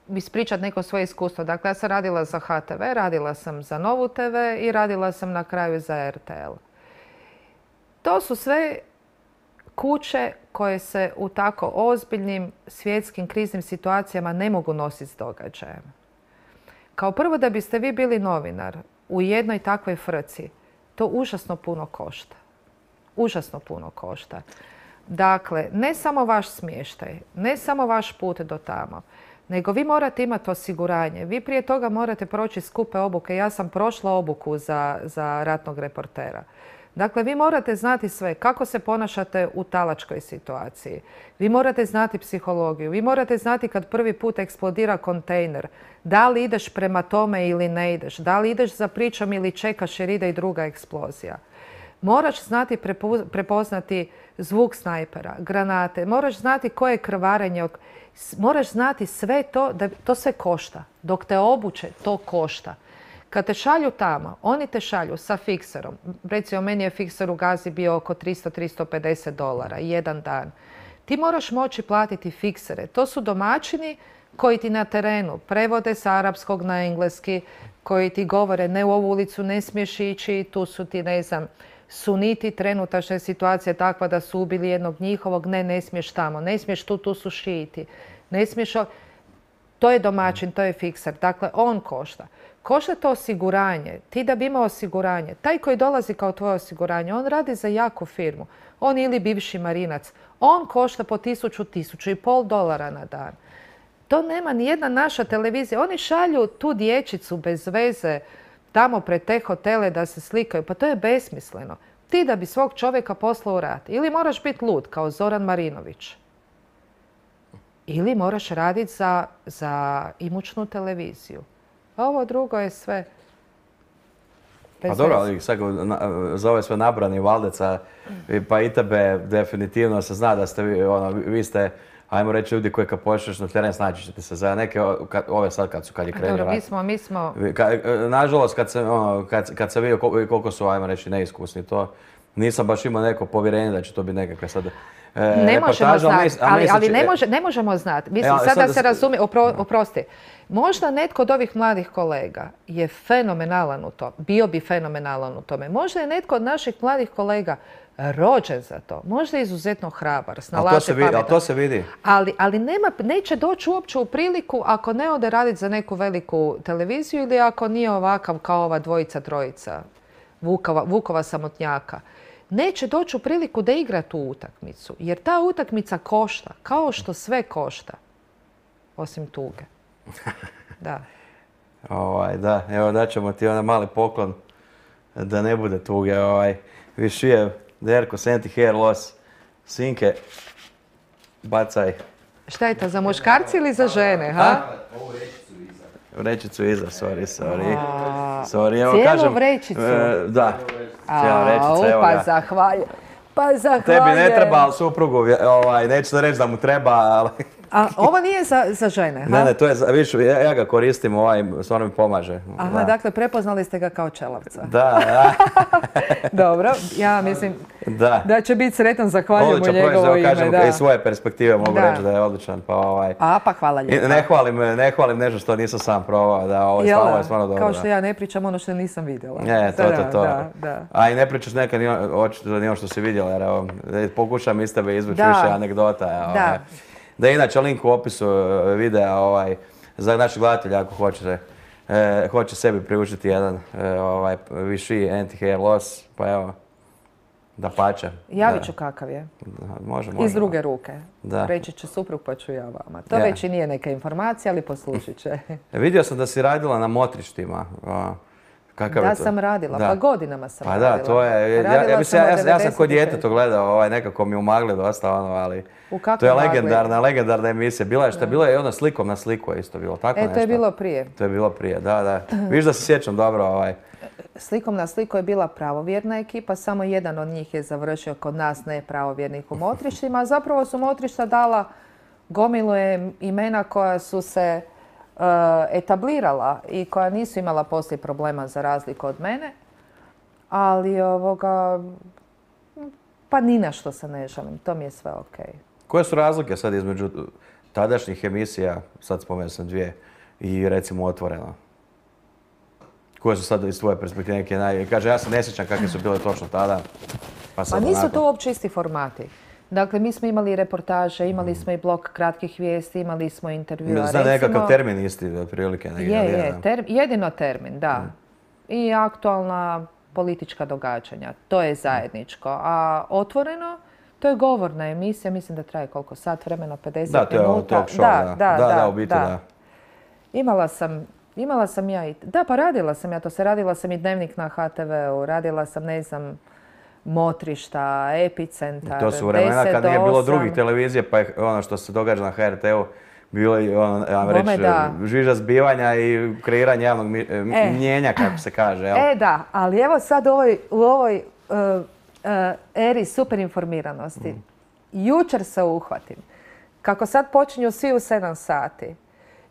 ispričati neko svoje iskustvo. Dakle, ja sam radila za HTV, radila sam za Novu TV i radila sam na kraju za RTL. To su sve kuće koje se u tako ozbiljnim svjetskim kriznim situacijama ne mogu nositi s događajem. Kao prvo, da biste vi bili novinar u jednoj takvoj frci, to užasno puno košta. Užasno puno košta. Dakle, ne samo vaš smještaj, ne samo vaš put do tamo, nego vi morate imati osiguranje. Vi prije toga morate proći skupe obuke. Ja sam prošla obuku za ratnog reportera. Dakle, vi morate znati sve kako se ponašate u talačkoj situaciji. Vi morate znati psihologiju. Vi morate znati kad prvi put eksplodira kontejner. Da li ideš prema tome ili ne ideš. Da li ideš za pričom ili čekaš jer ide i druga eksplozija. Moraš znati prepoznati zvuk snajpera, granate. Moraš znati koje je krvarenje. Moraš znati sve to, da to sve košta. Dok te obuče, to košta. Kad te šalju tamo, oni te šalju sa fikserom. Recimo, meni je fikser u Gazi bio oko $300-350 jedan dan. Ti moraš moći platiti fiksere. To su domaćini koji ti na terenu prevode s arapskog na engleski, koji ti govore ne u ovu ulicu ne smiješ ići, tu su ti, ne znam, suniti, trenutačna situacija je takva da su ubili jednog njihovog, ne smiješ tamo, ne smiješ tu su šijiti, ne smiješ... To je domaćin, to je fikser. Dakle, on košta. Košta to osiguranje. Ti da bi imao osiguranje, taj koji dolazi kao tvoje osiguranje, on radi za jaku firmu. On ili bivši marinac. On košta po $1,000-1,500 na dan. To nema ni jedna naša televizija. Oni šalju tu dječicu bez veze tamo pred te hotele da se slikaju. Pa to je besmisleno. Ti da bi svog čovjeka poslao u rat. Ili moraš biti lud kao Zoran Marinović. Ili moraš raditi za imućnu televiziju. Ovo drugo je sve... Pa dobro, ali sad za ove sve nabrani Valdeca, pa i tebe definitivno se zna da ste vi ste, ajmo reći, ljudi koji kad pošliš na teren snaći ćete se za neke, ove sad kad je krenio rat. Dobro, mi smo... Nažalost, kad sam vidio koliko su, ajmo reći, neiskusni, to nisam baš imao neko povjerenje da će to biti nekakve sad... Ne možemo znati, ali ne možemo znati. Mislim, sad da se razumije, oprosti. Možda netko od ovih mladih kolega je fenomenalan u tome, bio bi fenomenalan u tome. Možda je netko od naših mladih kolega rođen za to. Možda je izuzetno hrabar, snalazi, pametan. Ali to se vidi. Ali neće doći uopće u priliku ako ne ode raditi za neku veliku televiziju ili ako nije ovakav kao ova trojica Vukova samotnjaka. Neće doći u priliku da igra tu utakmicu. Jer ta utakmica košta, kao što sve košta. Osim tuge. Da. Da, evo daćemo ti onaj mali poklon da ne bude tuge. Višijev, Derko, anti-hair loss, Sinke, bacaj. Šta je to, za muškarci ili za žene, ha? Ovu rečicu iza. Vrećicu iza, sorry. Cijelu vrećicu? Da, cijela vrećica, evo ga. Pa zahvaljujem. Tebi ne treba, ali suprugu, neću da reći da mu treba, ali... A ovo nije za žene, ha? Ne, to je, vidiš, ja ga koristim, stvarno mi pomaže. Aha, dakle, prepoznali ste ga kao čelavca. Da. Dobro, ja mislim da će biti sretan, zahvaljujem u njegovo ime. Kažem, iz svoje perspektive mogu reći da je odličan. Pa hvala lijepo. Ne hvalim nešto što nisam sam probao, da ovo je stvarno dobro. Kao što ja ne pričam ono što nisam vidjela. To. A i ne pričaš nekad očito ni ono što si vidjela, jer pokušam iz tebe izvući više anegdota. Da, inače, link u opisu videa za naših gledatelja ako hoće sebi priučiti jedan viši anti-hair loss, pa evo, da pače. Javit ću kakav je. Može. Iz druge ruke. Reći će suprug pa ću ja vama. To već i nije neka informacija, ali poslušit će. Vidio sam da si radila na motrištima. Kakav Da je to? sam radila, Da. pa godinama sam Pa radila. da, to je, Radila sam od ja sam kod 96. dijete to gledao, nekako mi umagli dosta, ali U kakvom to je magli? legendarna emisija. Bila je šta, bila je ona slikom na sliku je isto bilo, tako nešto. To je bilo prije. To je bilo prije, da. Viš da se sjećam dobro, Slikom na sliku je bila pravovjerna ekipa, samo jedan od njih je završio kod nas nepravovjernih u motrištima, a zapravo su motrišta dala gomilu imena koja su se etablirala i koja nisu imala poslije problema za razliku od mene, ali pa ni na što se ne žalim, to mi je sve okej. Koje su razlike sad između tadašnjih emisija, sad spomenuo sam dvije, i recimo Otvoreno? Koje su sad iz tvoje perspektive neke kaže, ja se ne sjećam kakve su bile točno tada. Pa nisu to uopće isti formati. Dakle, mi smo imali reportaže, imali smo i blok kratkih vijesti, imali smo intervjua. Zna nekakav termin isti, otprilike. Jedino termin, da. I aktualna politička događanja. To je zajedničko. A Otvoreno, to je govorna emisija, mislim da traje koliko? Sat vremena, 50 minuta. Da, to je talk show, da, u biti da. Imala sam ja i... Da, pa radila sam ja to. Radila sam i Dnevnik na HTV-u, radila sam, ne znam, Motrišta, Epicentar, 10 do 8. To su vremena kad nije bilo drugih televizije, pa je ono što se događa na HRT-u bilo i žviža zbivanja i kreiranje javnog mnjenja, kako se kaže. Da, ali evo sad u ovoj eri superinformiranosti. Jučer se uhvatim. Kako sad počinju svi u 7 sati.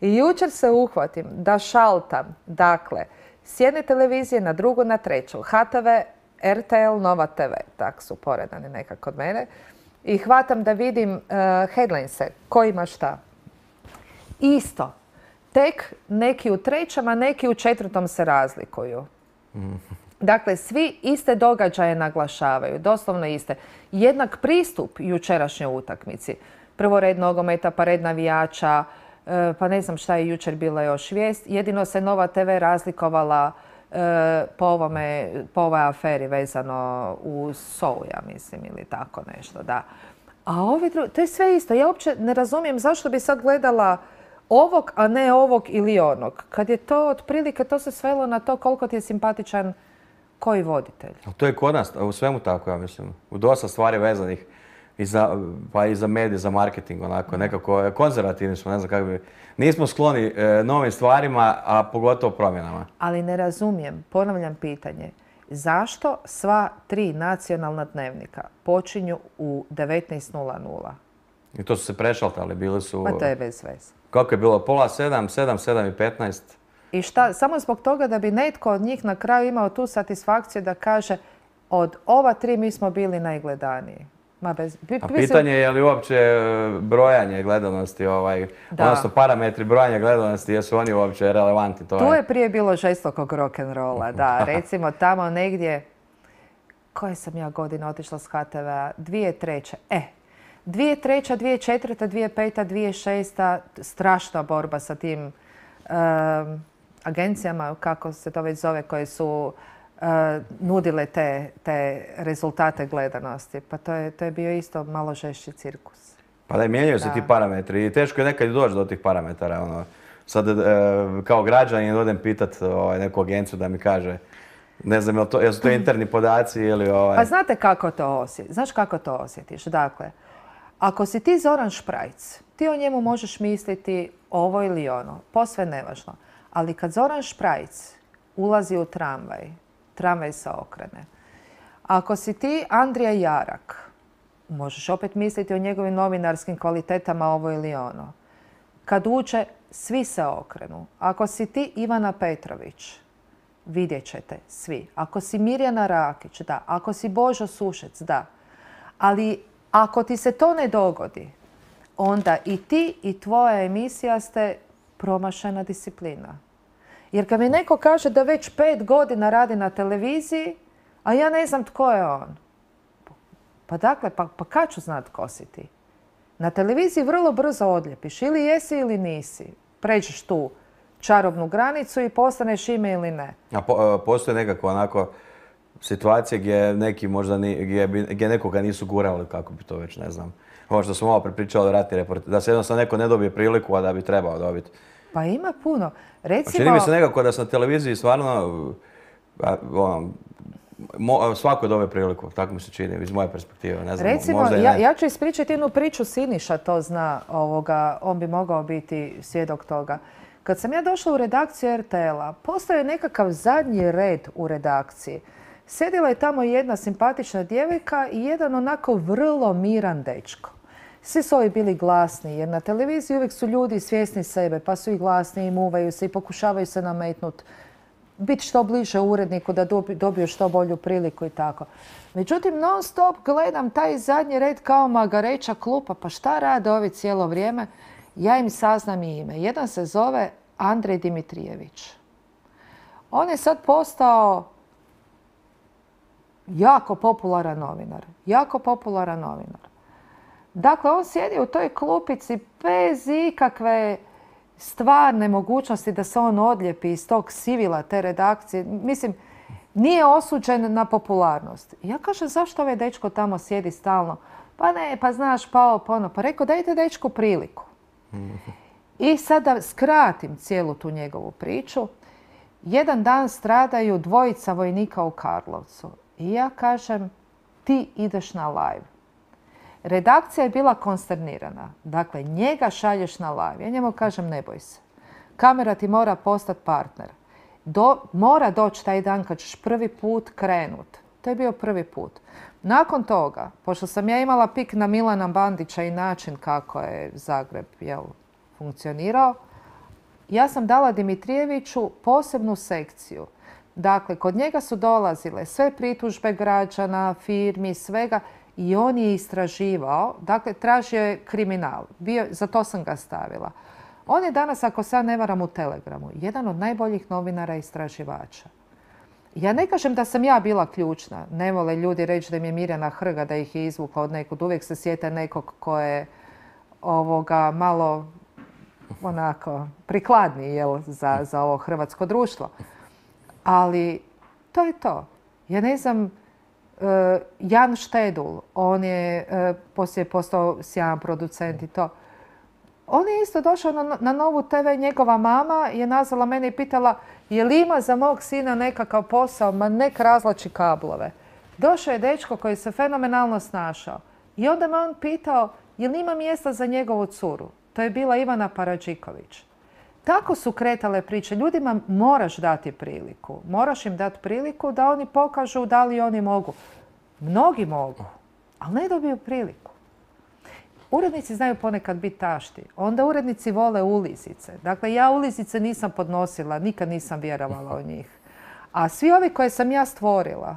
I jučer se uhvatim da šaltam, dakle, s jedne televizije na drugu, na treću. HTV, RTL, Nova TV, tak su poredani nekako od mene. I hvatam da vidim headlinese, ko ima šta. Isto. Tek neki u trećem, a neki u četvrtom se razlikuju. Dakle, svi iste događaje naglašavaju, doslovno iste. Jednak pristup jučerašnjoj utakmici. Prvo red nogometa, pa red navijača, pa ne znam šta je jučer bila još vijest. Jedino se Nova TV razlikovala po ovoj aferi vezano u SOU, ja mislim, ili tako nešto, da. A ovi drugi, to je sve isto. Ja uopće ne razumijem zašto bi sad gledala ovog, a ne ovog ili onog. Kad je to otprilike, to se svelo na to koliko ti je simpatičan koji voditelj. To je kod nas, u svemu tako, ja mislim. U dosta stvari vezanih. Pa i za medije, za marketing, onako, nekako konzervativni smo, ne znam kako bi... Nismo skloni novim stvarima, a pogotovo promjenama. Ali ne razumijem, ponavljam pitanje, zašto sva 3 nacionalna dnevnika počinju u 19:00? I to su se prešaltali, bili su... Pa to je bez veze. Kako je bilo? 6:30, 7:15? I šta, samo zbog toga da bi netko od njih na kraju imao tu satisfakciju da kaže od ova 3 mi smo bili najgledaniji. A pitanje je li uopće brojanje gledanosti, odnosno parametri brojanja gledanosti, jesu oni uopće relevantni? Tu je prije bilo žestokog rock'n'rolla, da. Recimo tamo negdje, koje sam ja godine otišla s HTV-a? 2003. 2003, 2004, 2005, 2006, strašna borba sa tim agencijama, kako se to već zove, koje su nudile te rezultate gledanosti. Pa to je bio isto malo žešći cirkus. Pa da, mijenjaju se ti parametri i teško je nekad doći do tih parametara. Sad kao građanin odem pitat neku agenciju da mi kaže, ne znam, jesu to interni podaci ili... Pa znate kako to osjetiš? Znaš kako to osjetiš? Dakle, ako si ti Zoran Šprajc, ti o njemu možeš misliti ovo ili ono, posve nevažno. Ali kad Zoran Šprajc ulazi u tramvaj se okrene. Ako si ti Andrija Jarak, možeš opet misliti o njegovim novinarskim kvalitetama ovo ili ono. Kad uđe, svi se okrenu. Ako si ti Ivana Petrović, vidjet ćete svi. Ako si Mirjana Rakić, da. Ako si Božo Sušec, da. Ali ako ti se to ne dogodi, onda i ti i tvoja emisija ste promašena disciplina. Jer kad mi neko kaže da već 5 godina radi na televiziji, a ja ne znam tko je on. Pa dakle, pa kad ću znat tko si ti? Na televiziji vrlo brzo odljepiš. Ili jesi ili nisi. Pređeš tu čarobnu granicu i postaneš ime ili ne. A postoje nekako onako situacije gdje neki možda gdje nekoga nisu gurali, kako bi to već, ne znam. Ovo što smo malo prepričali o ratni reporter, da se jednostavno neko ne dobije priliku, a da bi trebao dobiti. Pa ima puno. Recimo... Čini mi se nekako da se na televiziji stvarno Svako dobe priliku, tako mi se čini, iz moje perspektive. Ne znam, Recimo, možda i ne. ja ću ispričati jednu priču, Siniša to zna, on bi mogao biti svjedok toga. Kad sam ja došla u redakciju RTL-a, postao je nekakav zadnji red u redakciji. Sjedila je tamo jedna simpatična djevojka i jedan onako vrlo miran dečko. Svi su ovi bili glasni, jer na televiziji uvijek su ljudi svjesni sebe, pa su i glasni i muvaju se i pokušavaju se nametnuti. Biti što bliže uredniku da dobiju što bolju priliku i tako. Međutim, non stop gledam taj zadnji red kao magareća klupa. Pa šta rade ovi cijelo vrijeme? Ja im saznam i ime. Jedan se zove Andrej Dimitrijević. On je sad postao jako popularan novinar. Jako popularan novinar. Dakle, on sjedi u toj klupici bez ikakve stvarne mogućnosti da se on odlijepi iz tog sivila te redakcije. Mislim, nije osuđen na popularnost. Ja kažem, zašto ovaj dečko tamo sjedi stalno? Pa ne, pa znaš, pa ono. Pa rekao, dajte dečku priliku. I sad da skratim cijelu tu njegovu priču. Jedan dan stradaju dvojica vojnika u Karlovcu. I ja kažem, ti ideš na live. Redakcija je bila konsternirana. Dakle, njega šalješ na live. Ja njemu kažem, ne boj se. Kamera ti mora postati partner. Mora doći taj dan kad ćeš prvi put krenut. To je bio prvi put. Nakon toga, pošto sam ja imala pik na Milana Bandića i način kako je Zagreb funkcionirao, ja sam dala Dimitrijeviću posebnu sekciju. Dakle, kod njega su dolazile sve pritužbe građana, firmi, svega. I on je istraživao, dakle, tražio je kriminal. Za to sam ga stavila. On je danas, ako se ja ne varam, u Telegramu, jedan od najboljih novinara i istraživača. Ja ne kažem da sam ja bila ključna. Ne vole ljudi reći da im je Mirjana Hrga, da ih je izvukla od nekud. Uvijek se sjete nekog ko je malo onako prikladniji za ovo hrvatsko društvo. Ali to je to. Ja ne znam, Jan Štedul, on je poslije postao sjajan producent i to. On je isto došao na Novu TV, njegova mama je nazvala mene i pitala je li ima za mog sina nekakav posao, ma nek razlači kablove. Došao je dečko koji se fenomenalno snašao i onda me on pitao je li ima mjesta za njegovu curu. To je bila Ivana Paradžiković. Tako su kretale priče. Ljudima moraš dati priliku. Moraš im dati priliku da oni pokažu da li oni mogu. Mnogi mogu, ali ne dobiju priliku. Urednici znaju ponekad biti tašti. Onda urednici vole ulizice. Dakle, ja ulizice nisam podnosila, nikad nisam vjerovala u njih. A svi ovi koje sam ja stvorila,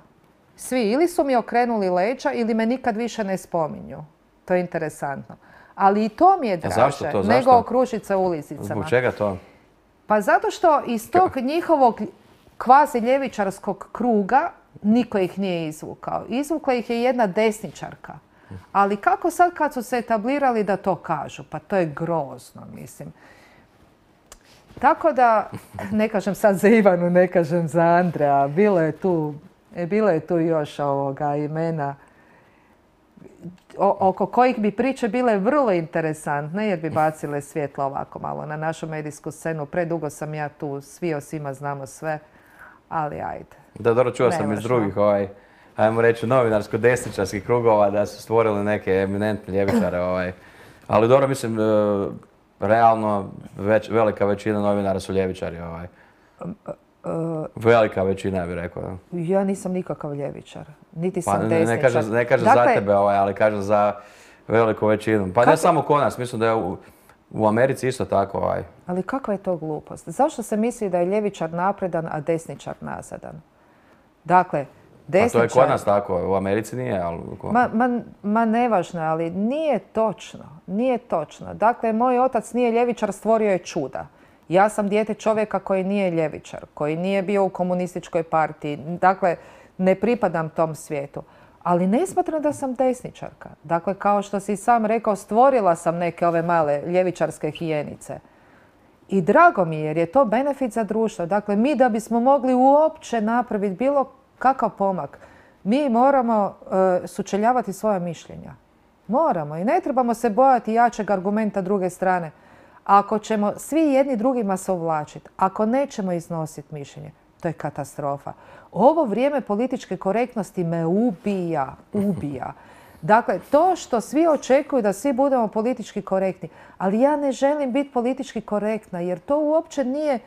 svi ili su mi okrenuli leđa ili me nikad više ne spominju. To je interesantno. Ali i to mi je draže nego okružiti se ulizicama. Zbog čega to? Pa zato što iz tog njihovog kvazi ljevičarskog kruga niko ih nije izvukao. Izvukla ih je jedna desničarka. Ali kako sad kad su se etablirali da to kažu? Pa to je grozno, mislim. Tako da, ne kažem sad za Ivanu, ne kažem za Andreja, bilo je tu još imena oko kojih bi priče bile vrlo interesantne jer bi bacile svjetlo ovako malo na našu medijsku scenu. Predugo sam ja tu, svi o svima znamo sve, ali ajde. Da, dobro, čuo sam iz drugih, ajmo reći, novinarsko-desničarskih krugova da su stvorili neke eminentne ljevičare. Ali dobro, mislim, realno velika većina novinara su ljevičari. Velika većina, ja bih rekao. Ja nisam nikakav ljevičar. Niti sam desničar. Ne kažem za tebe, ali kažem za veliku većinu. Pa ne samo kod nas, mislim da je u Americi isto tako. Ali kakva je to glupost? Zašto se misli da je ljevičar napredan, a desničar nazadan? Dakle, desničar... A to je kod nas tako, u Americi nije, ali... Ma nevažno, ali nije točno. Nije točno. Dakle, moj otac nije ljevičar, stvorio je čuda. Ja sam dijete čovjeka koji nije ljevičar, koji nije bio u komunističkoj partiji. Dakle, ne pripadam tom svijetu. Ali ne smatram da sam desničarka. Dakle, kao što si sam rekao, stvorila sam neke ove male ljevičarske hijenice. I drago mi je jer je to benefit za društvo. Dakle, mi da bismo mogli uopće napraviti bilo kakav pomak, mi moramo sučeljavati svoja mišljenja. Moramo i ne trebamo se bojati jačeg argumenta druge strane. Ako ćemo svi jedni drugima se uvlačiti, ako nećemo iznositi mišljenje, To je katastrofa. Ovo vrijeme političke korektnosti me ubija. Dakle, to što svi očekuju da svi budemo politički korektni, ali ja ne želim biti politički korektna jer to uopće nije,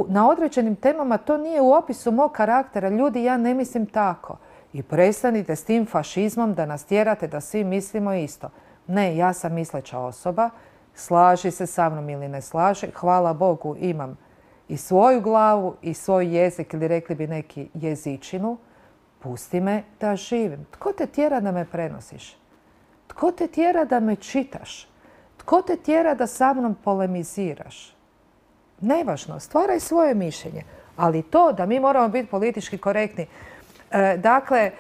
na određenim temama to nije u opisu mog karaktera. Ljudi, ja ne mislim tako. I prestanite s tim fašizmom da nas tjerate da svi mislimo isto. Ne, ja sam misleća osoba, slaži se sa mnom ili ne slaže, hvala Bogu imam i svoju glavu i svoj jezik ili rekli bi neki jezičinu, pusti me da živim. Tko te tjera da me prenosiš? Tko te tjera da me čitaš? Tko te tjera da sa mnom polemiziraš? Nevažno, stvaraj svoje mišljenje. Ali to da mi moramo biti politički korektni. Dakle,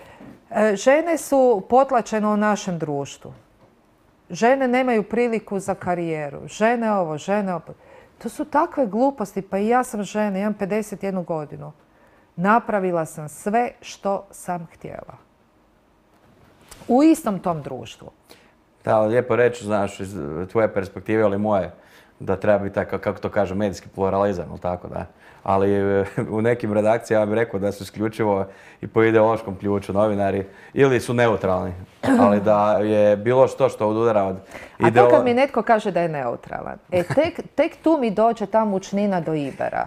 žene su potlačene u našem društvu. Žene nemaju priliku za karijeru. Žene ovo, žene ovo. To su takve gluposti. Pa i ja sam žena, imam 51 godinu. Napravila sam sve što sam htjela. U istom tom društvu. Da, lijepo reći, znaš, iz tvoje perspektive, ali moje, da treba biti tako, kako to kaže, medijski pluralizam, ili tako da. Ali u nekim redakcijama ja bih rekao da su isključivo i po ideološkom ključu novinari ili su neutralni, ali da je bilo što odudara od A to kad mi netko kaže da je neutralan, tek tu mi dođe ta mučnina do Ibera.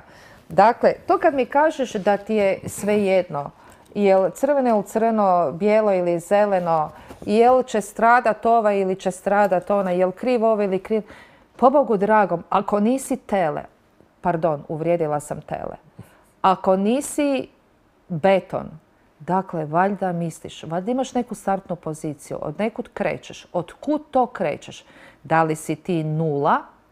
Dakle, to kad mi kažeš da ti je svejedno, jel crveno ili crno, bijelo ili zeleno, jel će stradat ova ili će stradat ona, jel kriv ovo ili kriv... Pobogu dragom, ako nisi tele, pardon, uvrijedila sam tele, ako nisi beton, dakle, valjda misliš, valjda imaš neku startnu poziciju, od nekud krećeš, od kud to krećeš? Da li si ti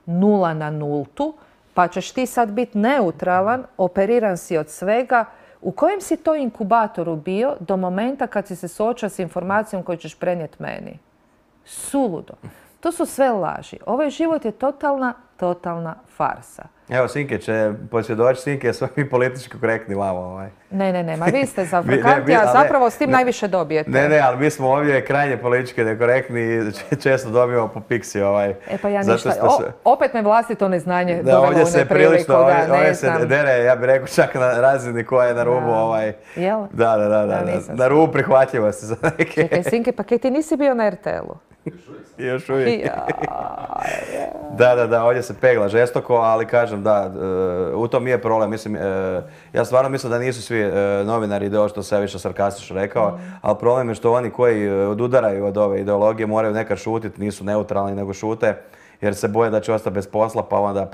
nula na nultu, pa ćeš ti sad biti neutralan, operiran si od svega. U kojem si to inkubatoru bio do momenta kad si se suočio s informacijom koju ćeš prenijeti meni? Suludo. To su sve laži. Ovaj život je totalna farsa. Evo, Sinke će posvjedoći, Sinke, smo mi politički korektni vamo. Ne, ma vi ste zafrakanti, a zapravo s tim najviše dobijete. Ne, ali mi smo ovdje krajnje politički nekorektni i često dobijemo po piksi. Pa ja ništa, opet me vlastito neznanje dovelo u nepriliku. Ovdje se dere, ja bih rekao, čak na razini koja je na rubu. Jel? Da, na rubu prihvatljivosti za neke. Čekaj, Sinke, pa kaj ti nisi bio na RTL-u? Još uvijek. Da, ovdje se pegla žestoko, ali kažem da, u tom je problem. Mislim, ja stvarno mislim da nisu svi novinari ideološki, što sam ja više sarkastično rekao, ali problem je što oni koji odudaraju od ove ideologije moraju nekad šutiti, nisu neutralni nego šute, jer se boje da će ostati bez posla, pa onda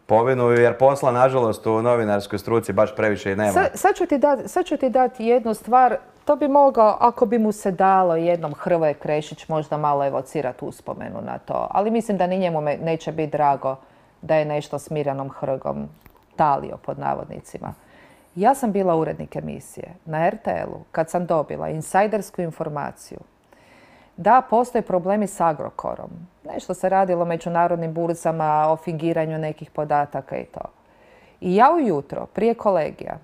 povinuju, jer posla, nažalost, u novinarskoj struci baš previše i nema. Sad ću ti dati jednu stvar. To bi mogao, ako bi mu se dalo jednom Hrvoje Krešić, možda malo evocirati uspomenu na to. Ali mislim da ni njemu neće biti drago da je nešto s Mirjanom Hrgom talio, pod navodnicima. Ja sam bila urednik emisije na RTL-u kad sam dobila insajdersku informaciju da postoje problemi s Agrokorom. Nešto se radilo o međunarodnim burzama, o fingiranju nekih podataka i to. I ja ujutro, prije kolegija,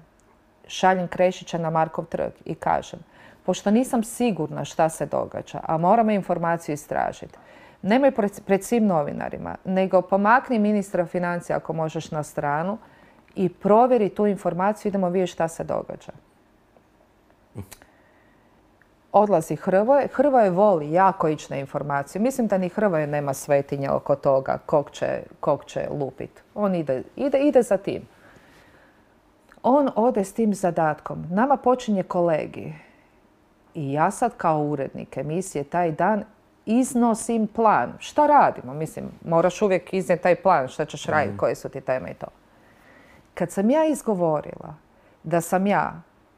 šaljem Krešića na Markov trg i kažem, pošto nisam sigurna šta se događa, a moramo informaciju istražiti, nemoj pred svim novinarima, nego pomakni ministra financija ako možeš na stranu i provjeri tu informaciju, idemo vidjeti šta se događa. Odlazi Hrvoje. Hrvoje voli jako ići na informaciju. Mislim da ni Hrvoje nema svetinje oko toga kog će lupit. On ide za tim. On ode s tim zadatkom. Nama počinje kolegij. I ja sad kao urednik emisije taj dan iznosim plan. Šta radimo? Mislim, moraš uvijek iznijeti taj plan. Šta ćeš raditi? Koje su ti teme i to. Kad sam ja izgovorila da sam ja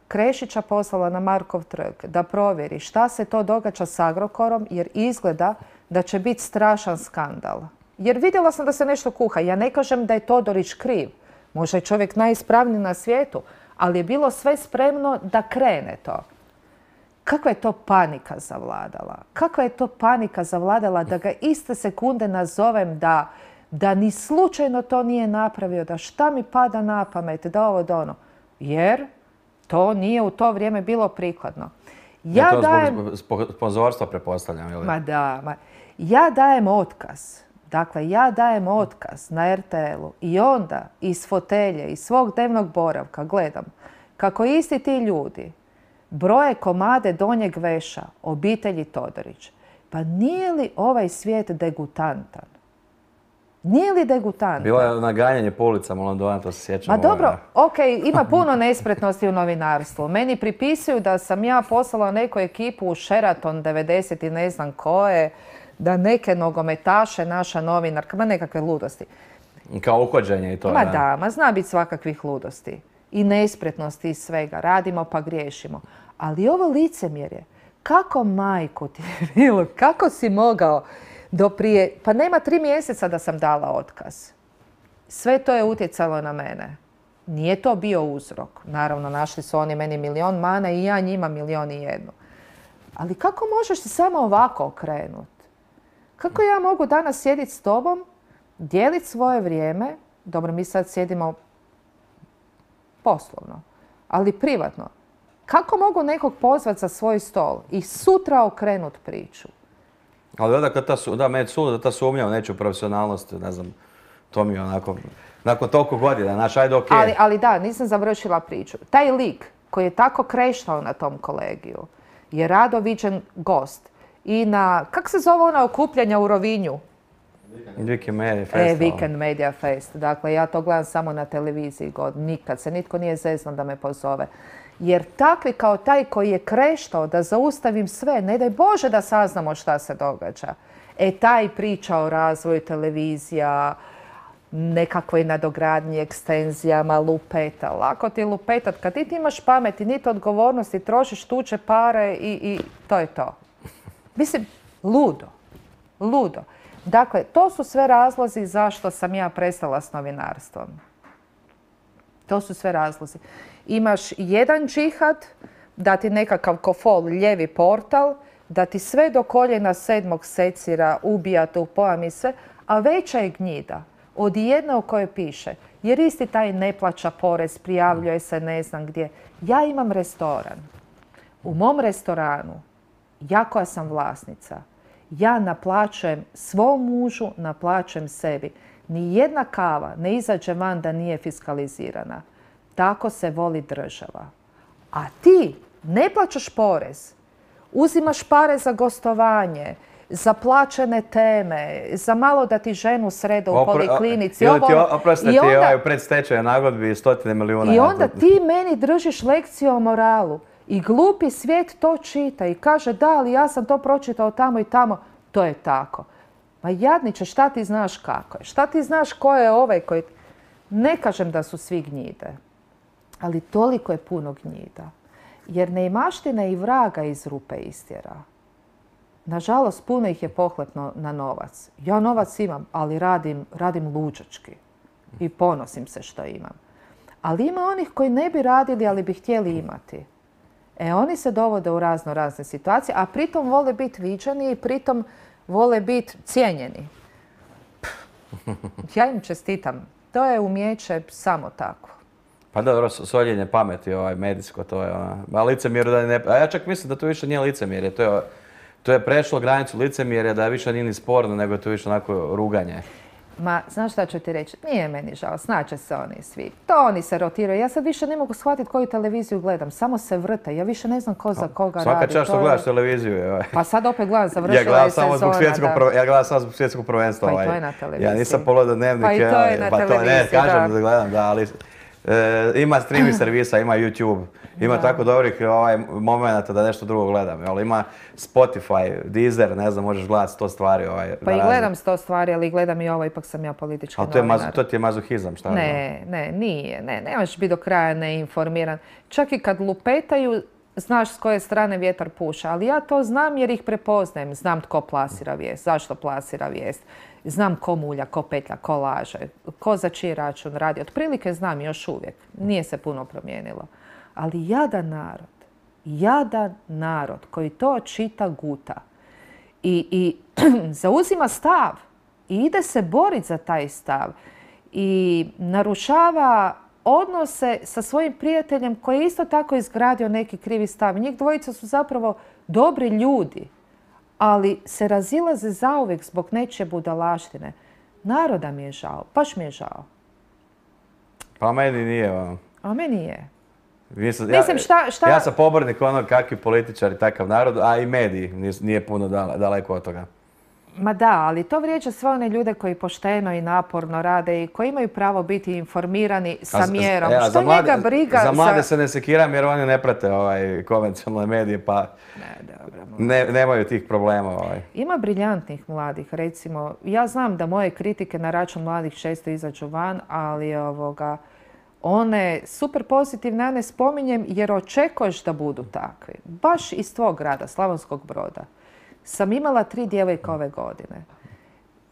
Krešića poslala na Markov trg da provjeri šta se to događa s Agrokorom, jer izgleda da će biti strašan skandal. Jer vidjela sam da se nešto kuha. Ja ne kažem da je Todorić kriv. Možda je čovjek najispravniji na svijetu, ali je bilo sve spremno da krene to. Kakva je to panika zavladala? Kakva je to panika zavladala da ga iste sekunde nazovem da ni slučajno to nije napravio, da šta mi pada na pamet, da ovo da ono. Jer to nije u to vrijeme bilo prikladno. To zbog sponzorstva, pretpostavljam, ili? Ma da. Ja dajem otkaz Dakle, ja dajem otkaz na RTL-u i onda iz fotelje, iz svog dnevnog boravka gledam kako isti ti ljudi broje komade donjeg veša obitelji Todorić. Pa nije li ovaj svijet degutantan? Nije li degutantan? Bilo je naganjanje po ulicama u Londonu, to se sjećam. Ma dobro, ima puno nespretnosti u novinarstvu. Meni pripisuju da sam ja poslala neku ekipu u Sheraton 90 i ne znam koje, da neke nogometaše, naša novinarka, ma nekakve ludosti. Kao uhođenje i to. Ma da, ma zna biti svakakvih ludosti. I nespretnosti i svega. Radimo pa griješimo. Ali ovo licemjerje, kako majku ti je bilo, kako si mogao do prije, pa nema 3 mjeseca da sam dala otkaz. Sve to je utjecalo na mene. Nije to bio uzrok. Naravno, našli su oni meni milion mana i ja njima 1.000.001. Ali kako možeš se samo ovako okrenuti? Kako ja mogu danas sjediti s tobom, dijeliti svoje vrijeme, dobro, mi sad sjedimo poslovno, ali privatno. Kako mogu nekog pozvati za svoj stol i sutra okrenut priču? Ali onda meni suda da ta sumnja u nečiju profesionalnost, ne znam, to mi je onako, nakon toliko godina, znaš, ajde okej. Ali da, nisam završila priču. Taj lik koji je tako kreštao na tom kolegiju je rado viđen gost. I na, kak se zove ona okupljanja u Rovinju? Weekend Media Festival. Weekend Media Fest. Dakle, ja to gledam samo na televiziji. Nikad se nitko nije zeznao da me pozove. Jer takvi kao taj koji je kreštao da zaustavim sve, ne daj Bože da saznamo šta se događa. Taj priča o razvoju televizija, nekakvoj nadogradnji, ekstenzijama, lupeta. Lako ti je lupetat. Kad ti imaš pamet i niti odgovornosti, trošiš tuđe pare i to je to. Mislim, ludo. Ludo. Dakle, to su sve razlozi zašto sam ja prestala s novinarstvom. To su sve razlozi. Imaš jedan džihad, da ti nekakav kofol, lijevi portal, da ti sve do koljena 7. secira, ubija tu pojam i sve, a veća je gnjida od jedne u kojoj piše, jer isti taj ne plaća porez, prijavljuje se ne znam gdje. Ja imam restoran. U mom restoranu, ja koja sam vlasnica, ja naplaćujem svom mužu, naplaćujem sebi. Ni jedna kava ne izađe van da nije fiskalizirana. Tako se voli država. A ti ne plaćaš porez. Uzimaš pare za gostovanje, za plaćene teme, za malo da ti ženu srede u poliklinici. Ili ti oprosti u predstečaju nagodbi 100 milijuna. I onda ti meni držiš lekciju o moralu. I glupi svijet to čita i kaže da, ali ja sam to pročitao tamo i tamo. To je tako. Ma jadniče, šta ti znaš kako je? Šta ti znaš ko je ovaj koji... Ne kažem da su svi gnjide, ali toliko je puno gnjida. Jer neimaština i vraga iz rupe istjera. Nažalost, puno ih je pohlepno na novac. Ja novac imam, ali radim luđački. I ponosim se što imam. Ali ima onih koji ne bi radili, ali bi htjeli imati. Oni se dovode u razne situacije, a pritom vole biti viđeni i pritom vole biti cijenjeni. Ja im čestitam. To je umijeće samo tako. Pa dobro, soljenje pameti, medijsko, to je a licemjerje da ne... A ja čak mislim da to više nije licemjerje, to je prešlo granicu licemjerja, da više nije ni sporno, nego je to više onako ruganje. Ma, znaš šta ću ti reći? Nije meni žao, snaće se oni svi. To oni se rotiraju. Ja sad više ne mogu shvatiti koju televiziju gledam. Samo se vrte. Ja više ne znam ko za koga radi. Svaka čast što gledaš televiziju. Pa sad opet gledam, završila je sezona. Ja gledam samo zbog svjetskog prvenstva. Pa i to je na televiziji. Ja nisam pogledao dnevnike. Pa i to je na televiziji, ne, kažem da gledam, da, ali... Ima streaming servisa, ima YouTube, ima tako dobrih momenata da nešto drugo gledam. Ima Spotify, Deezer, ne znam, možeš gledati 100 stvari. Pa i gledam 100 stvari, ali gledam i ovo, ipak sam ja politički novinar. Ali to ti je mazohizam, šta? Ne, nije. Ne možeš biti do kraja neinformiran. Čak i kad lupetaju, znaš s koje strane vjetar puša, ali ja to znam jer ih prepoznajem. Znam tko plasira vijest, zašto plasira vijest. Znam ko mulja, ko petlja, ko laže, ko za čiji račun radi. Otprilike znam još uvijek. Nije se puno promijenilo. Ali jadan narod koji to čita guta i zauzima stav i ide se boriti za taj stav i narušava odnose sa svojim prijateljem koji je isto tako izgradio neki krivi stav. Njih dvojica su zapravo dobri ljudi, ali se razilaze zauvijek zbog nečije budalaštine. Naroda mi je žao, baš mi je žao. Pa meni nije ono. A meni je. Mislim, ja sam pobornik onog kakvi političari, takav narod, a i mediji nije puno daleko od toga. Ma da, ali to vrijeđa sve one ljude koji pošteno i naporno rade i koji imaju pravo biti informirani sa mjerom. Što njega briga? Za mlade se ne sekiram jer oni ne prate konvencionalne medije pa nemaju tih problema. Ima briljantnih mladih, recimo. Ja znam da moje kritike na račun mladih često izađu van, ali one super pozitivne ja ne spominjem jer očekuješ da budu takvi. Baš iz tvog grada, Slavonskog Broda, sam imala 3 djevojke ove godine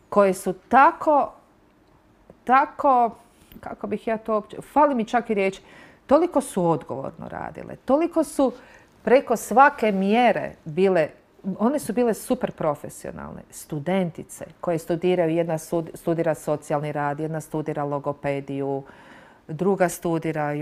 koje su tako, kako bih ja to uopće, fali mi čak i riječ, toliko su odgovorno radile, toliko su preko svake mjere bile, one su bile super profesionalne, studentice koje studiraju, jedna studira socijalni rad, jedna studira logopediju, druga studira,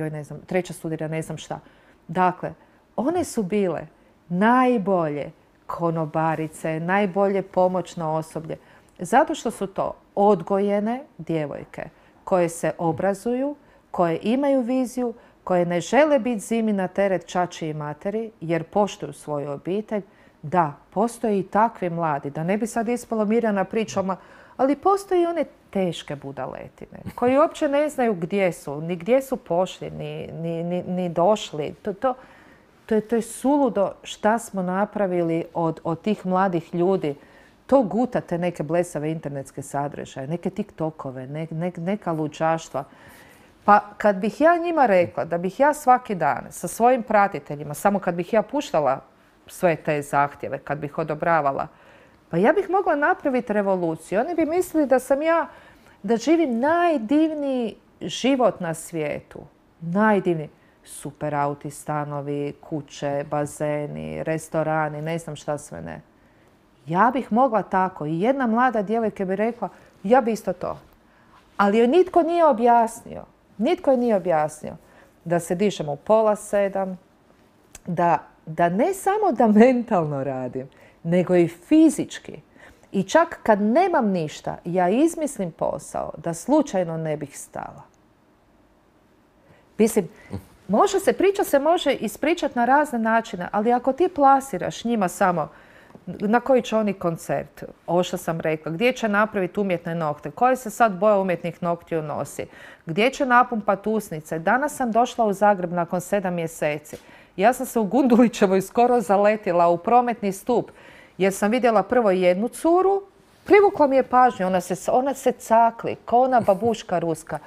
treća studira ne znam šta. Dakle, one su bile najbolje konobarice, najbolje pomoćno osoblje. Zato što su to odgojene djevojke koje se obrazuju, koje imaju viziju, koje ne žele biti zimi na teret čači i materi jer poštuju svoju obitelj. Da, postoje i takvi mladi. Da ne bi sad ispalo Mirjana pričama, ali postoje i one teške budaletine koji uopće ne znaju gdje su, ni gdje su pošli, ni došli. To je suludo šta smo napravili od tih mladih ljudi. To gutate neke blesave internetske sadržaje, neke TikTokove, neka luđaštva. Pa kad bih ja njima rekla da bih ja svaki dan sa svojim pratiteljima, samo kad bih ja puštala sve te zahtjeve, kad bih odobravala, pa ja bih mogla napraviti revoluciju. Oni bi mislili da sam ja, da živim najdivniji život na svijetu. Najdivniji. Super auti, stanovi, kuće, bazeni, restorani, ne znam šta sve ne. Ja bih mogla tako i jedna mlada djevojka bi rekla ja bi isto to. Ali joj nitko nije objasnio. Nitko joj nije objasnio da se dišem u 6:30, da ne samo da mentalno radim, nego i fizički. I čak kad nemam ništa, ja izmislim posao da slučajno ne bih stala. Mislim, priča se može ispričati na razne načine, ali ako ti plasiraš njima samo na koji će oni koncert, ovo što sam rekla, gdje će napraviti umjetne nokte, koje se sad boja umjetnih noktiju nosi, gdje će napumpati usnice. Danas sam došla u Zagreb nakon 7 mjeseci. Ja sam se u Gundulićevoj skoro zaletila u prometni stup jer sam vidjela prvo jednu curu, privukla mi je pažnju, ona se cakli, kao ona babuška ruska.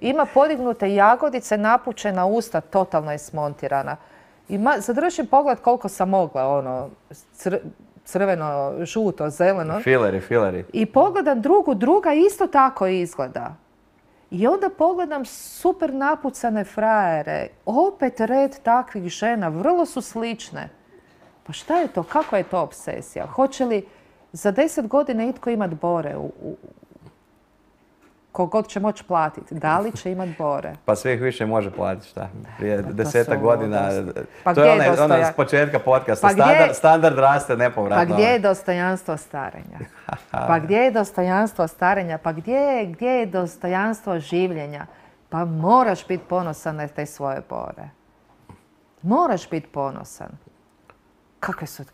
Ima podignute jagodice, napučena usta, totalno je smontirana. I zadržim pogled koliko sam mogla, crveno, žuto, zeleno. Fileri. I pogledam druga isto tako izgleda. I onda pogledam super napucane frajere, opet red takvih žena, vrlo su slične. Pa šta je to, kakva je to obsesija? Hoće li za 10 godina itko imat bore? Kogod će moći platiti. Da li će imat bore? Pa sve ih više može platiti, šta? Prije 10 godina. Pa to je ono s početka podcasta. Standard raste nepovratno. Pa gdje je dostojanstvo starenja? Pa gdje je dostojanstvo starenja? Pa gdje je dostojanstvo življenja? Pa moraš biti ponosan na te svoje bore. Moraš biti ponosan. Kakve su,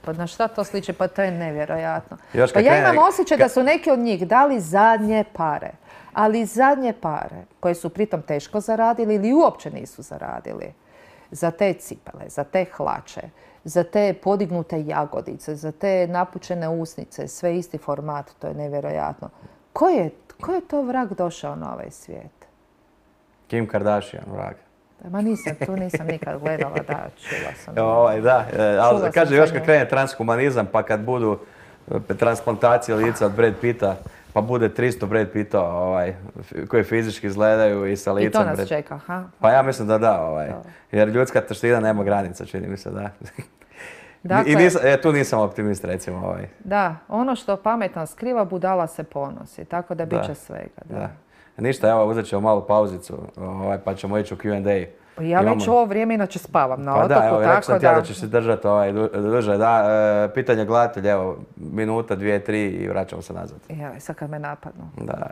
pa na šta to sliči? Pa to je nevjerojatno. Pa ja imam osjećaj da su neki od njih dali zadnje pare. Ali zadnje pare, koje su pritom teško zaradili ili uopće nisu zaradili. Za te cipele, za te hlače, za te podignute jagodice, za te napučene usnice, sve isti format, to je nevjerojatno. Ko je to vrag došao na ovaj svijet? Kim Kardashian, vrag. Ma tu nisam nikad gledala, da, čula sam. Ali kaže još kad krene transhumanizam, pa kad budu transplantacije lica od Brad Pitta, pa bude 300 Brad Pitta koji fizički izgledaju i sa licem. I to nas čeka, ha? Pa ja mislim da. Jer ljudska taština nema granica, čini mi se, da. I tu nisam optimist, recimo. Da, ono što pametan skriva, budala se ponosi, tako da bit će svega. Da. Ništa, evo uzet ćemo malu pauzicu, pa ćemo ići u Q&A. Ja već u ovo vrijeme inače spavam na otoku, da, evo, rekao sam tako ti ja da... da ćeš se držati duže. Da, pitanje gledatelja, evo, minuta, 2, 3 i vraćamo se nazad. Ja, sad kad me napadnu. Da,